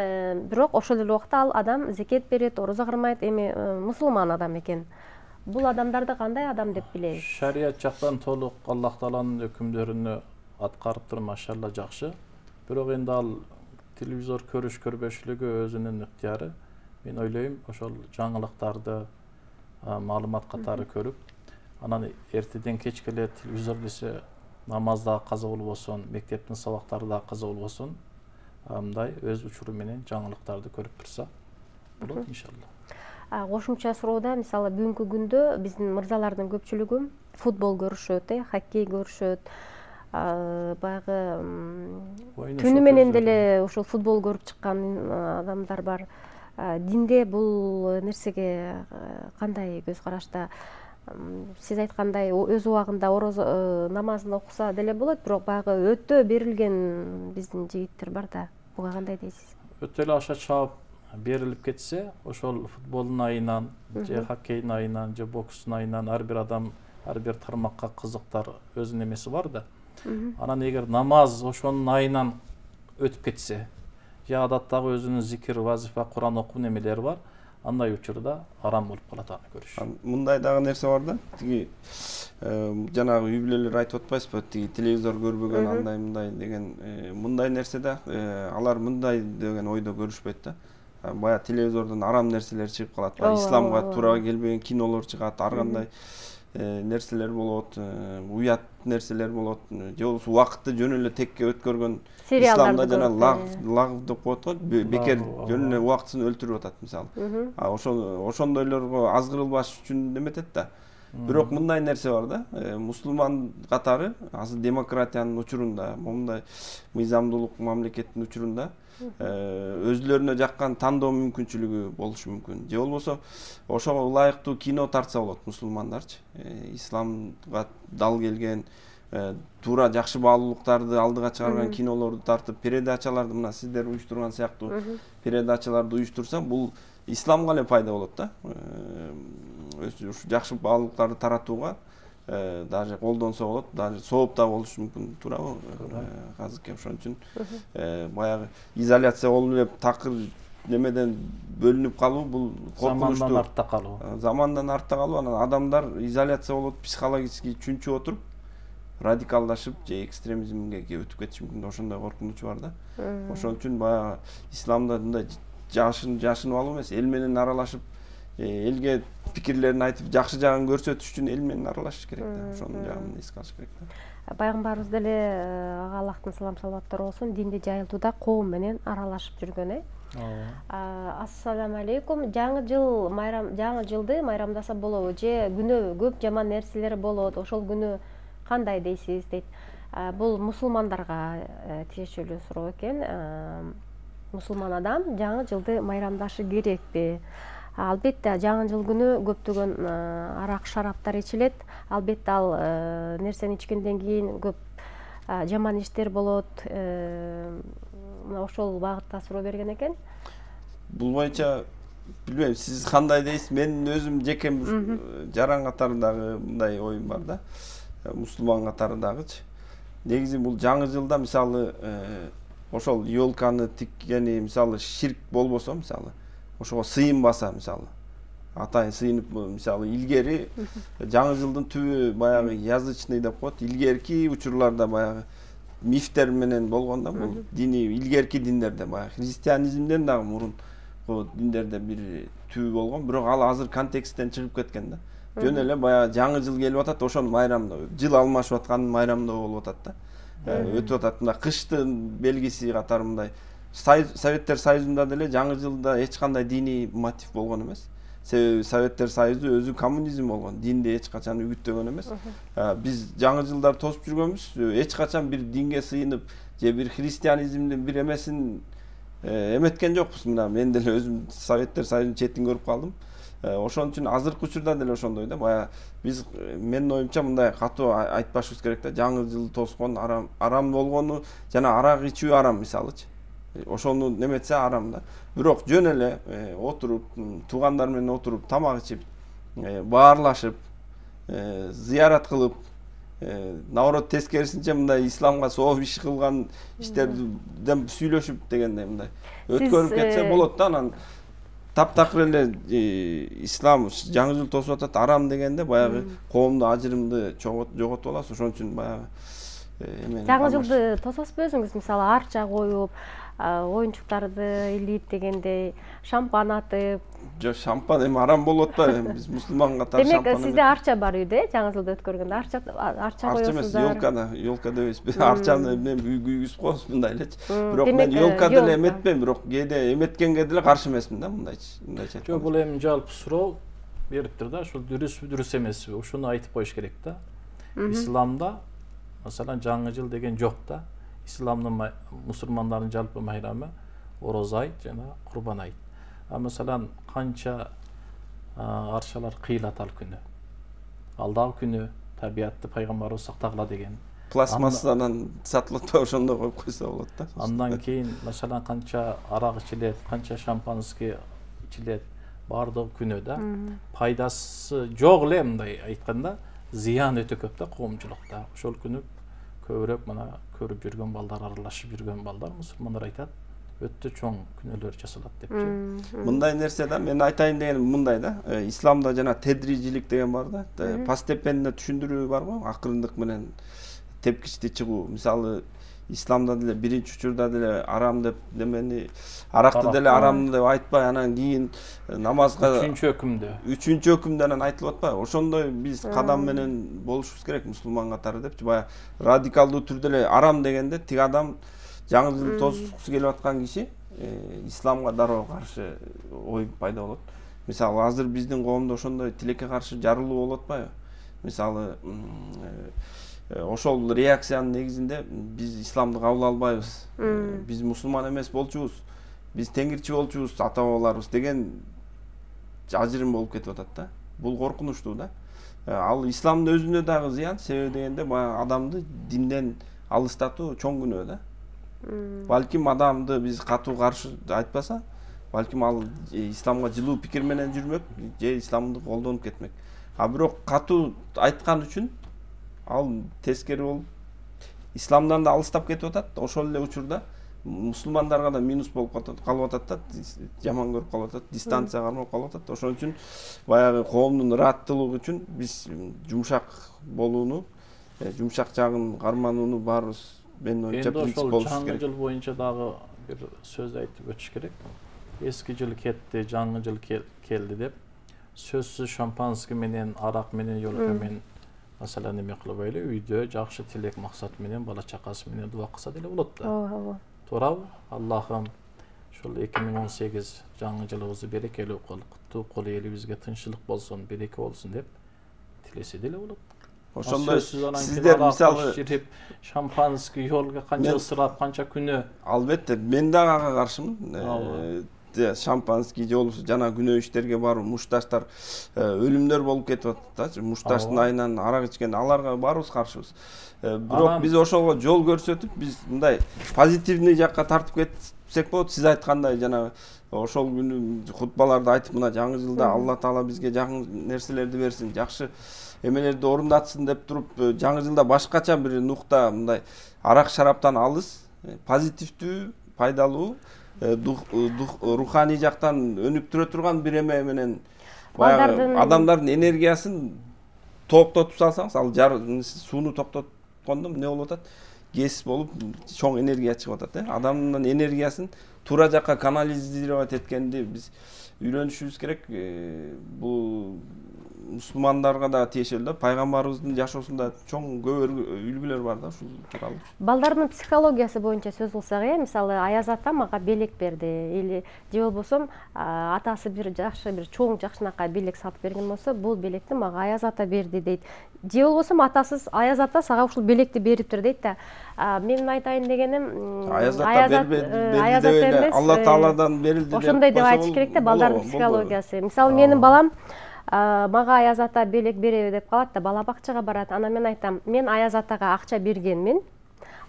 бирок ошол эле убакта ал адам зекет берет, орозо кармайт, эми мусулман адам экен. Бул адамдарды кандай адам деп билебиз? Шарият жактан толук Аллах Тааланын өкүмдөрүнө аткарып туруп, машалла жакшы. Бирок энди ал телевизор көрүш көрбөшүлүгү өзүнүн ыктыяры. Мен ойлойм, ошол жаңылыктарды, маалымат катары көрүп, анан эртеден кечке эле телевизор десе намаз да каза болбосун, мектептин сабактары да каза болбосун, мындай өз учуру менен жаңылыктарды көрүп турса болот иншалла. Кошумча суроода, мисалы бүгүнкү күндө биздин мырзалардын көпчүлүгү футбол көрүшөт, хоккей көрүшөт. Баягы түнү менен деле ушул футбол көрүп чыккан адамдар бар. Динде бул нерсеге кандай көз карашта? Сиз айткандай өз убагында орозо намазын окуса деле болот, бирок баягы өтө берилген биздин жигиттер бар да. Буга кандай дейсиз? Өтө эле аша чаап берилип кетсе, ошол футболдун айынан, же хоккейдин айынан, же бокстун айынан ар бир адам, ар бир тармакка кызыктар өзүнүн эмеси бар да. Анан эгер намаз ошонун айынан өтүп кетсе, же адаттагы өзүнүн зикир, вазифа, Куран окуу немелери бар, андай учурда арам болуп калат аны көрүш. Мындай дагы нерсе бар да. Тиги жанагы үй бүлөлөр айтып атпайсызбы? Тиги телевизор көрбөгөн андай мындай деген мындай нерсе да, алар мындай деген ойдо көрүшпөйт да. Бая телевизордон арам нерселер чыгып калат, исламга туура келбеген кинолор чыгат, ар кандай нерселер болот, уят нерселер болот, же болбосо убакытты жөн эле текке өткөргөн, исламда жана лагв деп коет го, бекер жөн эле убактысын өлтүрүп атат мисалы. Ошондойлорго азгырылбаш үчүн неметет да. Бирок мындай нерсе бар да, мусулман катары азыр демократиянын учурунда, мындай мыйзамдуулук мамлекеттин учурунда өзүлөрүнө жаккан тандоо мүмкүнчүлүгү болушу мүмкүн. Же болбосо ошого ылайыктуу кино тартса болот мусулмандарчы. Исламга дал келген, туура жакшы баалуулуктарды алдыга чыгарган кинолорду тартып, передачаларды, мына сиздер уюштурган сыяктуу передачаларды уюштурса, бул исламга эле пайда болот да. Ушу жакшы баалуулуктарды таратууга даже колдонсо болот, даже сооп да болушу мүмкүн, туурабы? Азыркы ошон үчүн баягы изоляция болуп эле такыр немеден бөлүнүп калуу, бул коркунучтуу. Замандан артта калуу. Замандан артта калуу, анан адамдар изоляция болуп, психологически чүнчүп отуруп, радикалдашып же экстремизмге өтүп кетиши мүмкүн. Ошондой коркунуч бар да. Ошон үчүн баягы исламда мындай жашынып алуу эмес, эл менен аралашып, элге пикирлерин айтып, жакшы жагын көрсөтүш үчүн эл менен аралашыш керек да. Ошонун жагын эске алыш керек да. пайгамбарыбыз деле ага Аллахтын салам салаваттары болсун, динди жайылтууда коом менен аралашып жүргөн. Ассаламу алейкум. Жаңы жылды майрамдаса болобу же күнөө көп жаман нерселер болот, ошол күнү кандай дейсиз дейт. Бул мусулмандарга тиешелүү суроо экен. Мусулман адам жаңы жылды майрамдашы керекпи? Албетте жаңы жыл күнү көптөгөн арак шараптар ичилет. Албетте ал нерсени ичкенден кийин көп жаман иштер болот. Ошол багытта суроо берген экен. Бул боюнча билбейм, сиз кандай дейсиз? Мен өзүм жеке жаран катарындагы мындай оюм бар да. Мусулман катарындагычы. Негизи бул жаңы жылда мисалы ошол ёлканы тиккени мисалы ширк болбосо, мисалы ошого сыйынбаса, мисалы атайын сыйынып, мисалы илгери жаңы жылдын түбү баягы язычный деп коет. Илгерки учурларда баягы мифтер менен болгон да, бул диний илгерки диндерде баягы христианизмден дагы мурун диндерде бир түбү болгон, бирок ал азыр контексттен чыгып кеткен да. Жөн эле баягы жаңы жыл келип атат, ошону майрамдоо, жыл алмашып атканын майрамдоо болуп атат да. Өтүп атат мындай кыштын белгиси катары мындай. Советтер Союзунда деле жаңы жылда эч кандай диний мотив болгон эмес. Себеби Советтер Союзу өзү коммунизм болгон, динди эч качан үгүттөгөн эмес. Биз жаңы жылдар тосуп жүргөнбүз, эч качан бир динге сыйынып же бир христианизмдин бир эмесин эметкен жокпуз. Мына мен деле өзүм Советтер Союзунун четин көрүп калдым. Ошон үчүн азыркы учурда деле ошондой да. Баягы биз менин оюмча мындай катуу айтпашыбыз керек да. Жаңы жыл тоскон арам болгону жана арак ичүү арам мисалычы. Ошону неметсе арам да. Бирок жөн эле отуруп, туугандар менен отуруп, тамак ичип, баарлашып, зыярат кылып, наоборот тескерисинче мындай исламга сооп иш кылган иштерден сүйлөшүп дегендей мындай өткөрүп кетсе болот да. Анан таптакыр эле ислам жаңы жыл тосуп атат арам дегенде баягы коомду ажырымды жоготуп аласыз. Ошон үчүн баягы жаңы жылды тососузбу өзүңүз? Мисалы арча коюп, оюнчуктарды илип дегендей, шампан атып. Жок, шампан эми арам болот атпайбы? Биз мусулман катары шампан. Демек сизде арча бар үйдө, жаңы жылды өткөргөндө арча коесуздар. Арча эмес, ёлка дебейсиз. Арчаны мен үйгүзүп коебуз мындай элечи. Бирок мен ёлка деле эметпейм, бирок кээде эметкенге деле каршы эмесмин да, мындайчы. Жок, бул эми жалпы суроо бериптир да, ошол дурусбу, дурус эмеспи? Ушуну айтып коюш керек да. Исламда маселен жаңы жыл деген жок да. Исламдын мусулмандардын жалпы майрамы Ороза айт жана Курбан айт. Маселен канча арчалар кыйылат ал күнү. Ал дагы күнү табиятты пайгамбарыбыз сактагыла деген. Пластмассадан сатылып атпайбы, ошондо коюп койсо болот да. Андан кийин маселен канча арак ичилет, канча шампанский ичилет, баардыгы күнү да. Пайдасы жок эле мындай айтканда, зыян өтө көп да коомчулукта. Ошол күнү көбүрөөк мына көрүп жүргөн балдар, аралашып жүргөн балдар, мусулмандар айтат, өтө чоң күнөөлөр жасалат депчи. Мындай нерсе да, мен айтайын дегеним мындай да. Исламда жана тедрижилик деген бар да. Постепенно түшүндүрүү бар го, акырындык менен тепкичти чыгуу. Мисалы исламда деле биринчи учурда деле арам деп немени, аракты деле арам деп айтпай, анан кийин намазга үчүнчү өкүмдө анан айтылып атпайбы? Ошондой биз кадам менен болушубуз керек мусулман катары депчи. Баягы радикалдуу түрдө эле арам дегенде тиги адам жаңы жыл тосукусу келип аткан киши исламга дароо каршы ой пайда болот. Мисалы азыр биздин коомдо ошондой тилекке каршы жарылуу болуп атпайбы? Мисалы ошол реакциянын негизинде биз исламды кабыл албайбыз. Биз мусулман эмес болчубуз. Биз теңирчи болчубуз, ата бабаларыбыз деген ажырым болуп кетип атат да. Бул коркунучтуу да. Ал исламдын өзүнө дагы зыян, себеби дегенде баягы адамды динден алыстатуу чоң күнөө да. Балким адамды биз катуу каршы айтпаса, балким ал исламга жылуу пикир менен жүрмөк, же исламды колдонуп кетмек. Бирок катуу айткан үчүн ал тескери болуп исламдан да алыстап кетип атат. Ошол эле учурда мусулмандарга да минус болуп калып атат да, жаман көрүп калып атат, дистанция кармап калып атат. Ошон үчүн баягы коомдун ырааттуулугу үчүн биз жумшак болууну, жумшак жагын карманууну баарыбыз мен оюмча принцип болуш керек. Жаңы жыл боюнча дагы бир сөз айтып өтүш керек. Эски жыл кетти, жаңы жыл келди деп сөзсүз шампанский менен, арак менен, ёлка менен Маселен эме кылып эле үйдө жакшы тилек максат менен бала чакасы менен дуа кылса деле болот да. ооба. Туурабы? Аллахым ушул 2018 жаңы жылыбызды берекелүү кыл, куттуу кыл, элибизге тынччылык болсун, береке болсун деп тилесе деле болот. Ошондой сиздер мисалы жирип, шампанский йолго канча ысырап, канча күнөө. Албетте, мен дагы ага каршымын. Шампанский же болбосо жана күнөө иштерге барып, мушташтар өлүмдөр болуп кетип атат. Мушташтын айынан арак ичкен, аларга баарыбыз каршыбыз. Бирок биз ошого жол көрсөтүп, биз мындай позитивный жакка тартып кетсек болот. Сиз айткандай жана ошол күнү хутбаларды айтып, мына жаңы жылда Алла Таала бизге жакын нерселерди берсин, жакшы эмелерди орундатсын деп туруп, жаңы жылда башкача бир нукта мындай арак шараптан алыс, позитивдүү, пайдалуу, руханий жактан өнүктүрө турган бир эме менен баягы адамдардын энергиясын токтотуп салсаңыз, ал сууну токтоткондо эмне болуп атат? Гез болуп, чоң энергия чыгып атат, адамдын энергиясын туура жакка канализировать эткенди биз үйрөнүшүбүз керек. Бул мусулмандарга да тиешелүү, пайгамбарыбыздын жашоосунда чоң көп үлгүлөр бар да ушул тууралуу. Балдардын психологиясы боюнча сөз кылсак, мисалы Аяз ата мага белек берди, или же болбосо атасы бир жакшы бир чоң жакшынакай белек сатып берген болсо, бул белекти мага Аяз ата берди дейт. Же болбосо атасыз Аяз ата сага ушул белекти бериптир дейт да. Менин айтайын дегеним, Аяз ата берди деп эле Алла Тааладан берилди деп. Ошондой деп айтыш керек да, балдардын психологиясы. Мисалы менин балам мага Аяз ата белек береби деп калат да, бала бакчага барат. Анан мен айтам, мен Аяз атага акча бергенмин.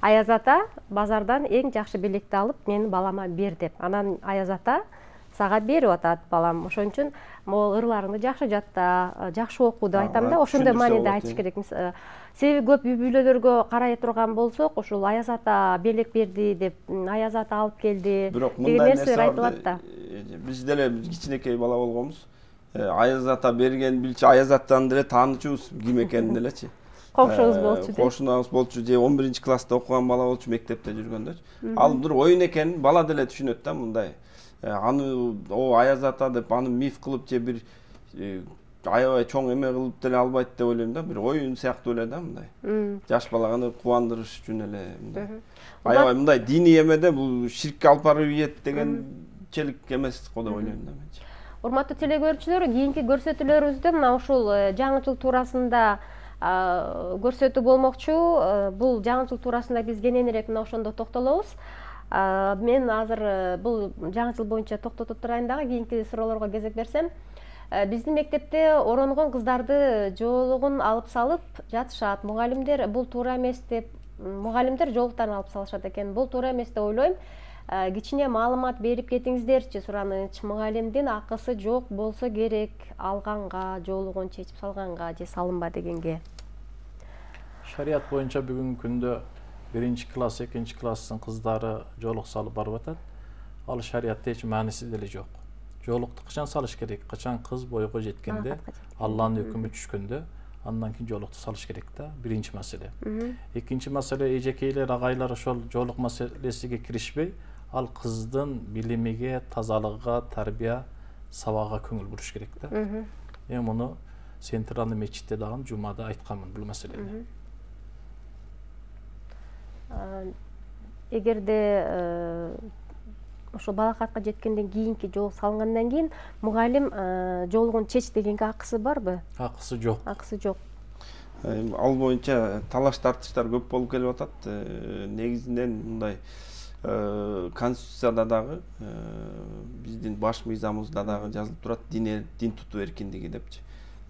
Аяз ата базардан эң жакшы белекти алып менин балама бер деп. Анан Аяз ата сага берип атат балам. Ошон үчүн могу ырларыңды жакшы жатта, жакшы оку деп айтам да. Ошондой мааниде айтыш керек. Себеби көп үй бүлөлөргө карай турган болсок, ушул Аяз ата белек берди деп, Аяз ата алып келди деген нерселер айтылат да. Биз деле кичинекей бала болгонбуз. Аяз ата берген билчи, Аяз атаны деле таанычубуз ким экенин делечи. Кошунубуз болчу. Кошунубуз болчу, же 11-класста окуган бала болчу, мектепте жүргөндө. Ал бир оюн экенин бала деле түшүнөт да, мындай. Аны Аяз ата деп аны миф кылып же бир аябай чоң эме кылып деле албайт деп ойлойм да, бир оюн сыяктуу эле да мындай. Жаш баланы кубандырыш үчүн эле мындай. Аябай мындай диний эмеде бул ширкке алып барып ийет дегенчелик эмес го деп ойлойм да менчи. Урматтуу телекөрүүчүлөр, кийинки көрсөтүүлөрүбүздө мына ушул жаңы жыл туурасында көрсөтүү болмокчу. Бул жаңы жыл туурасында биз кененирээк мына ошондо токтолобуз. Мен азыр бул жаңы жыл боюнча токтотуп турайын дагы, кийинки суроолорго кезек берсем. Биздин мектепте оронгон кыздарды жоолугун алып салып жатышат. Мугалимдер бул туура эмес деп, мугалимдер жоолуктарын алып салышат экен. Бул туура эмес деп ойлойм. Кичине маалымат берип кетиңиздерчи сураныч. Мугалимдин акысы жок болсо керек, алганга, жоолугун чечип салганга же салынба дегенге. Шарият боюнча бүгүнкү күндө 1-класс, 2-класстын кыздары жоолук салып барып атат. Ал шариятта эч мааниси деле жок. Жоолукту качан салыш керек? Качан кыз бойго жеткенде, Алланын өкүмү түшкөндө, андан кийин жоолукту салыш керек да. Биринчи маселе. Экинчи маселе, эжекейлер, агайлар ошол жоолук маселесиге киришпей, ал кыздын билимиге, тазалыгына, тарбия, сабагга көңүл буруш керек да. Мен муну Центральный мечитте дагы жумада айтканмын бул маселени. Эгерде ошо балакатка жеткенден кийинки жоолук салынгандан кийин мугалим жоолугун чеч дегенге акысы барбы? Акысы жок. Акысы жок. Ал боюнча талаш тартыштар көп болуп келип атат. Негизинен мындай Конституцияда дагы, биздин баш мыйзамыбызда дагы жазылып турат, дин тутуу эркиндиги депчи.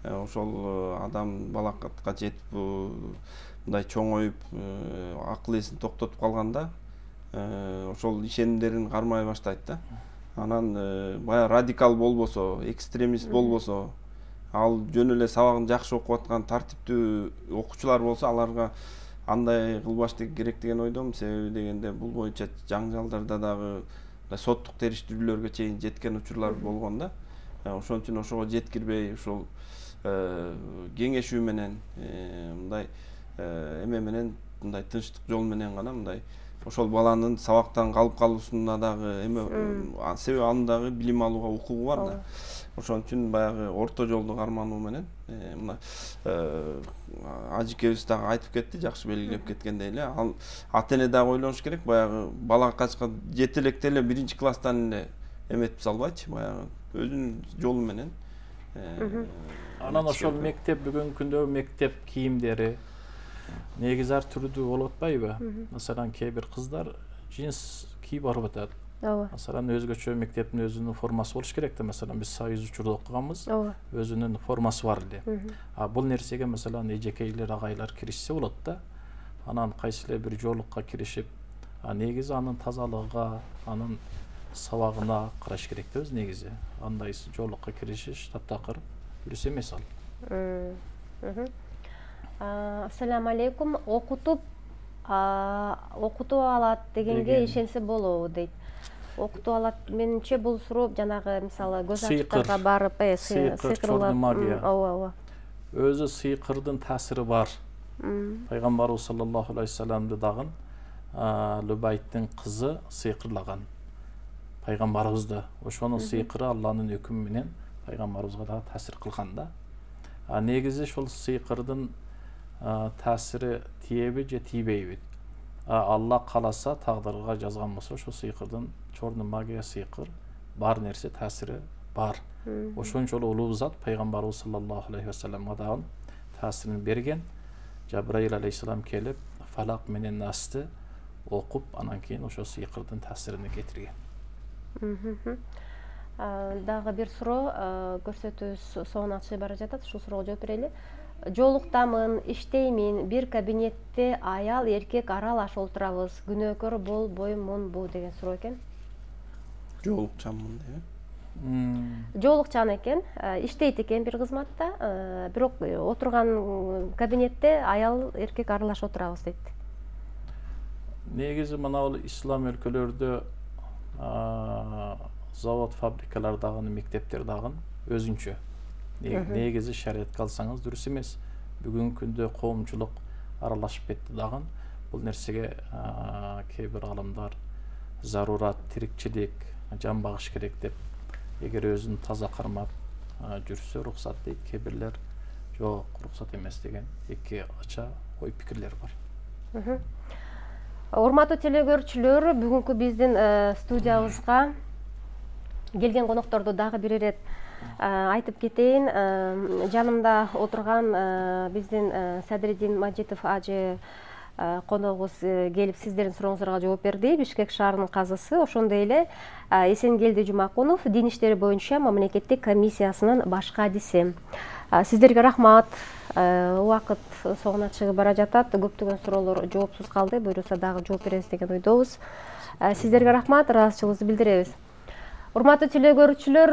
Ошол адам балакатка жетип, мындай чоңоюп, акыл эсин токтотуп калганда, ошол ишенимдерин кармай баштайт да. Анан бая радикал болбосо, экстремист болбосо, ал жөн эле сабагын жакшы окуп аткан тартиптүү окуучулар болсо, аларга андай кылбаш керек деген ойдомун. Себеби дегенде бул боюнча жаңы жылдарда дагы соттук териштирүүлөргө чейин жеткен учурлар болгон да. Ошон үчүн ошого жеткирбей, ушул кеңешүү менен, мындай эме менен, мындай тынчтык жол менен гана мындай ошол баланын сабактан калып калуусуна дагы эме себеби анын дагы билим алууга укугу бар да. Ошон үчүн баягы орто жолду кармануу менен мына ажекебиз дагы айтып кетти, жакшы белгилеп кеткендей эле. Ал ата эне дагы ойлонуш керек, баягы бала качка жетелекте эле 1-класстан эле эметип салбайчы, баягы өзүнүн жолу менен. Анан ошол мектеп бүгүнкү күндө мектеп кийимдери негизи ар түрдүү болуп атпайбы? Маселан, кээ бир кыздар джинс кийип барып атат. Маселан, өзгөчө мектептин өзүнүн формасы болуш керек да. Маселан, биз союз учурда окуганбыз, өзүнүн формасы бар эле. Бул нерсеге маселан эжекейлер, агайлар киришсе болот да. Анан кайсы эле бир жоолукка киришип, негизи анын тазалыгына, анын сабагына караш керек да өз негизи. Андай жоолукка киришиш таптакыр дурус эмес ал. Ассаламу алейкум. Окутуп алат дегенге ишенсе болобу дейт. Окутуп алат, менимче бул суроо жанагы мисалы көз ачыктарга барып, сыйкыр магия. Ооба. Өзү сыйкырдын таасири бар. Пайгамбарыбыз саллаллаху алейхи вассаламды дагы Любайттын кызы сыйкырлаган. Пайгамбарыбызды. Ошонун сыйкыры Алланын өкүмү менен пайгамбарыбызга да таасир кылган да. Негизи ошол сыйкырдын таасири тиеби же тийбейби? Алла кааласа, тагдырга жазган болсо, ошо сыйкырдын чорный магия сыйкыр бар нерсе таасири бар. Ошончолук улуу зат пайгамбарыбыз саллаллаху алейхи вассаламга дагы таасирин берген. Жабраил алейхиссалам келип, фалак менен насты окуп, анан кийин ошо сыйкырдын таасирин кетирген. Дагы бир суроо көрсөтүүбүз соңуна чыгып бара жатат. Ушул суроого жооп берели. Жолуктамын, иштеймин, бир кабинетте аял эркек аралаш отурабыз. Күнөөкөр болбоймунбу деген суроо экен. Жолукчанмын деп. Жолукчан экен, иштейт экен бир кызматта, бирок отурган кабинетте аял эркек аралаш отурабыз дейт. Негизи мына бул ислам өлкөлөрдө завод, фабрикалар дагы, мектептер дагы өзүнчө. Негизи шариатка алсаңыз дурус эмес. Бүгүнкү күндө коомчулук аралашып кетти дагы. Бул нерсеге кээ бир аламдар зарурат, тирикчилик, жан багыш керек деп, эгер өзүн таза кармап жүрсө уруксат дейт. Кээ бирлер жок, уруксат эмес деген эки ача ой пикирлер бар. Урматтуу телекөрүүчүлөр, бүгүнкү биздин студиябызга келген конокторду дагы бир ирет айтып кетейин. Жанымда отурган биздин Садриддин Мажитов ажы коногубуз келип сиздердин сурооңуздарга жооп берди. Бишкек шаарынын казысы, ошондой эле Эсенгелди Жумакунов дин иштери боюнча мамлекеттик комиссиясынын баш кадиси. Сиздерге рахмат. Убакыт соңуна чыгып бара жатат. Көптөгөн суроолор жоопсуз калды. Буюрса дагы жооп беребиз деген ойдобуз. Сиздерге рахмат, ыраазычылыгыбызды билдиребиз. Урматтуу телекөрүүчүлөр,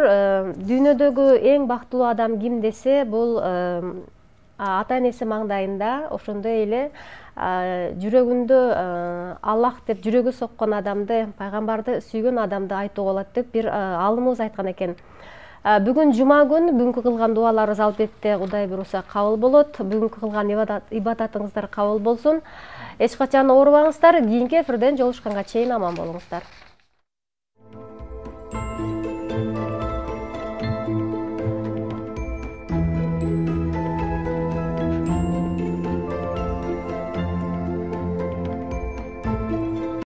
дүйнөдөгү эң бактылуу адам ким десе, бул ата энеси маңдайында, ошондой эле жүрөгүндө Аллах деп жүрөгү соккон адамды, пайгамбарды сүйгөн адамды айтууга болот деп бир алымыбыз айткан экен. Бүгүн жума күн, бүгүнкү кылган дуаларыбыз албетте Кудай буйруса кабыл болот. Бүгүнкү кылган ибадатыңыздар кабыл болсун. Эч качан оорубаңыздар. Кийинки эфирден жолугушканга чейин аман болуңуздар.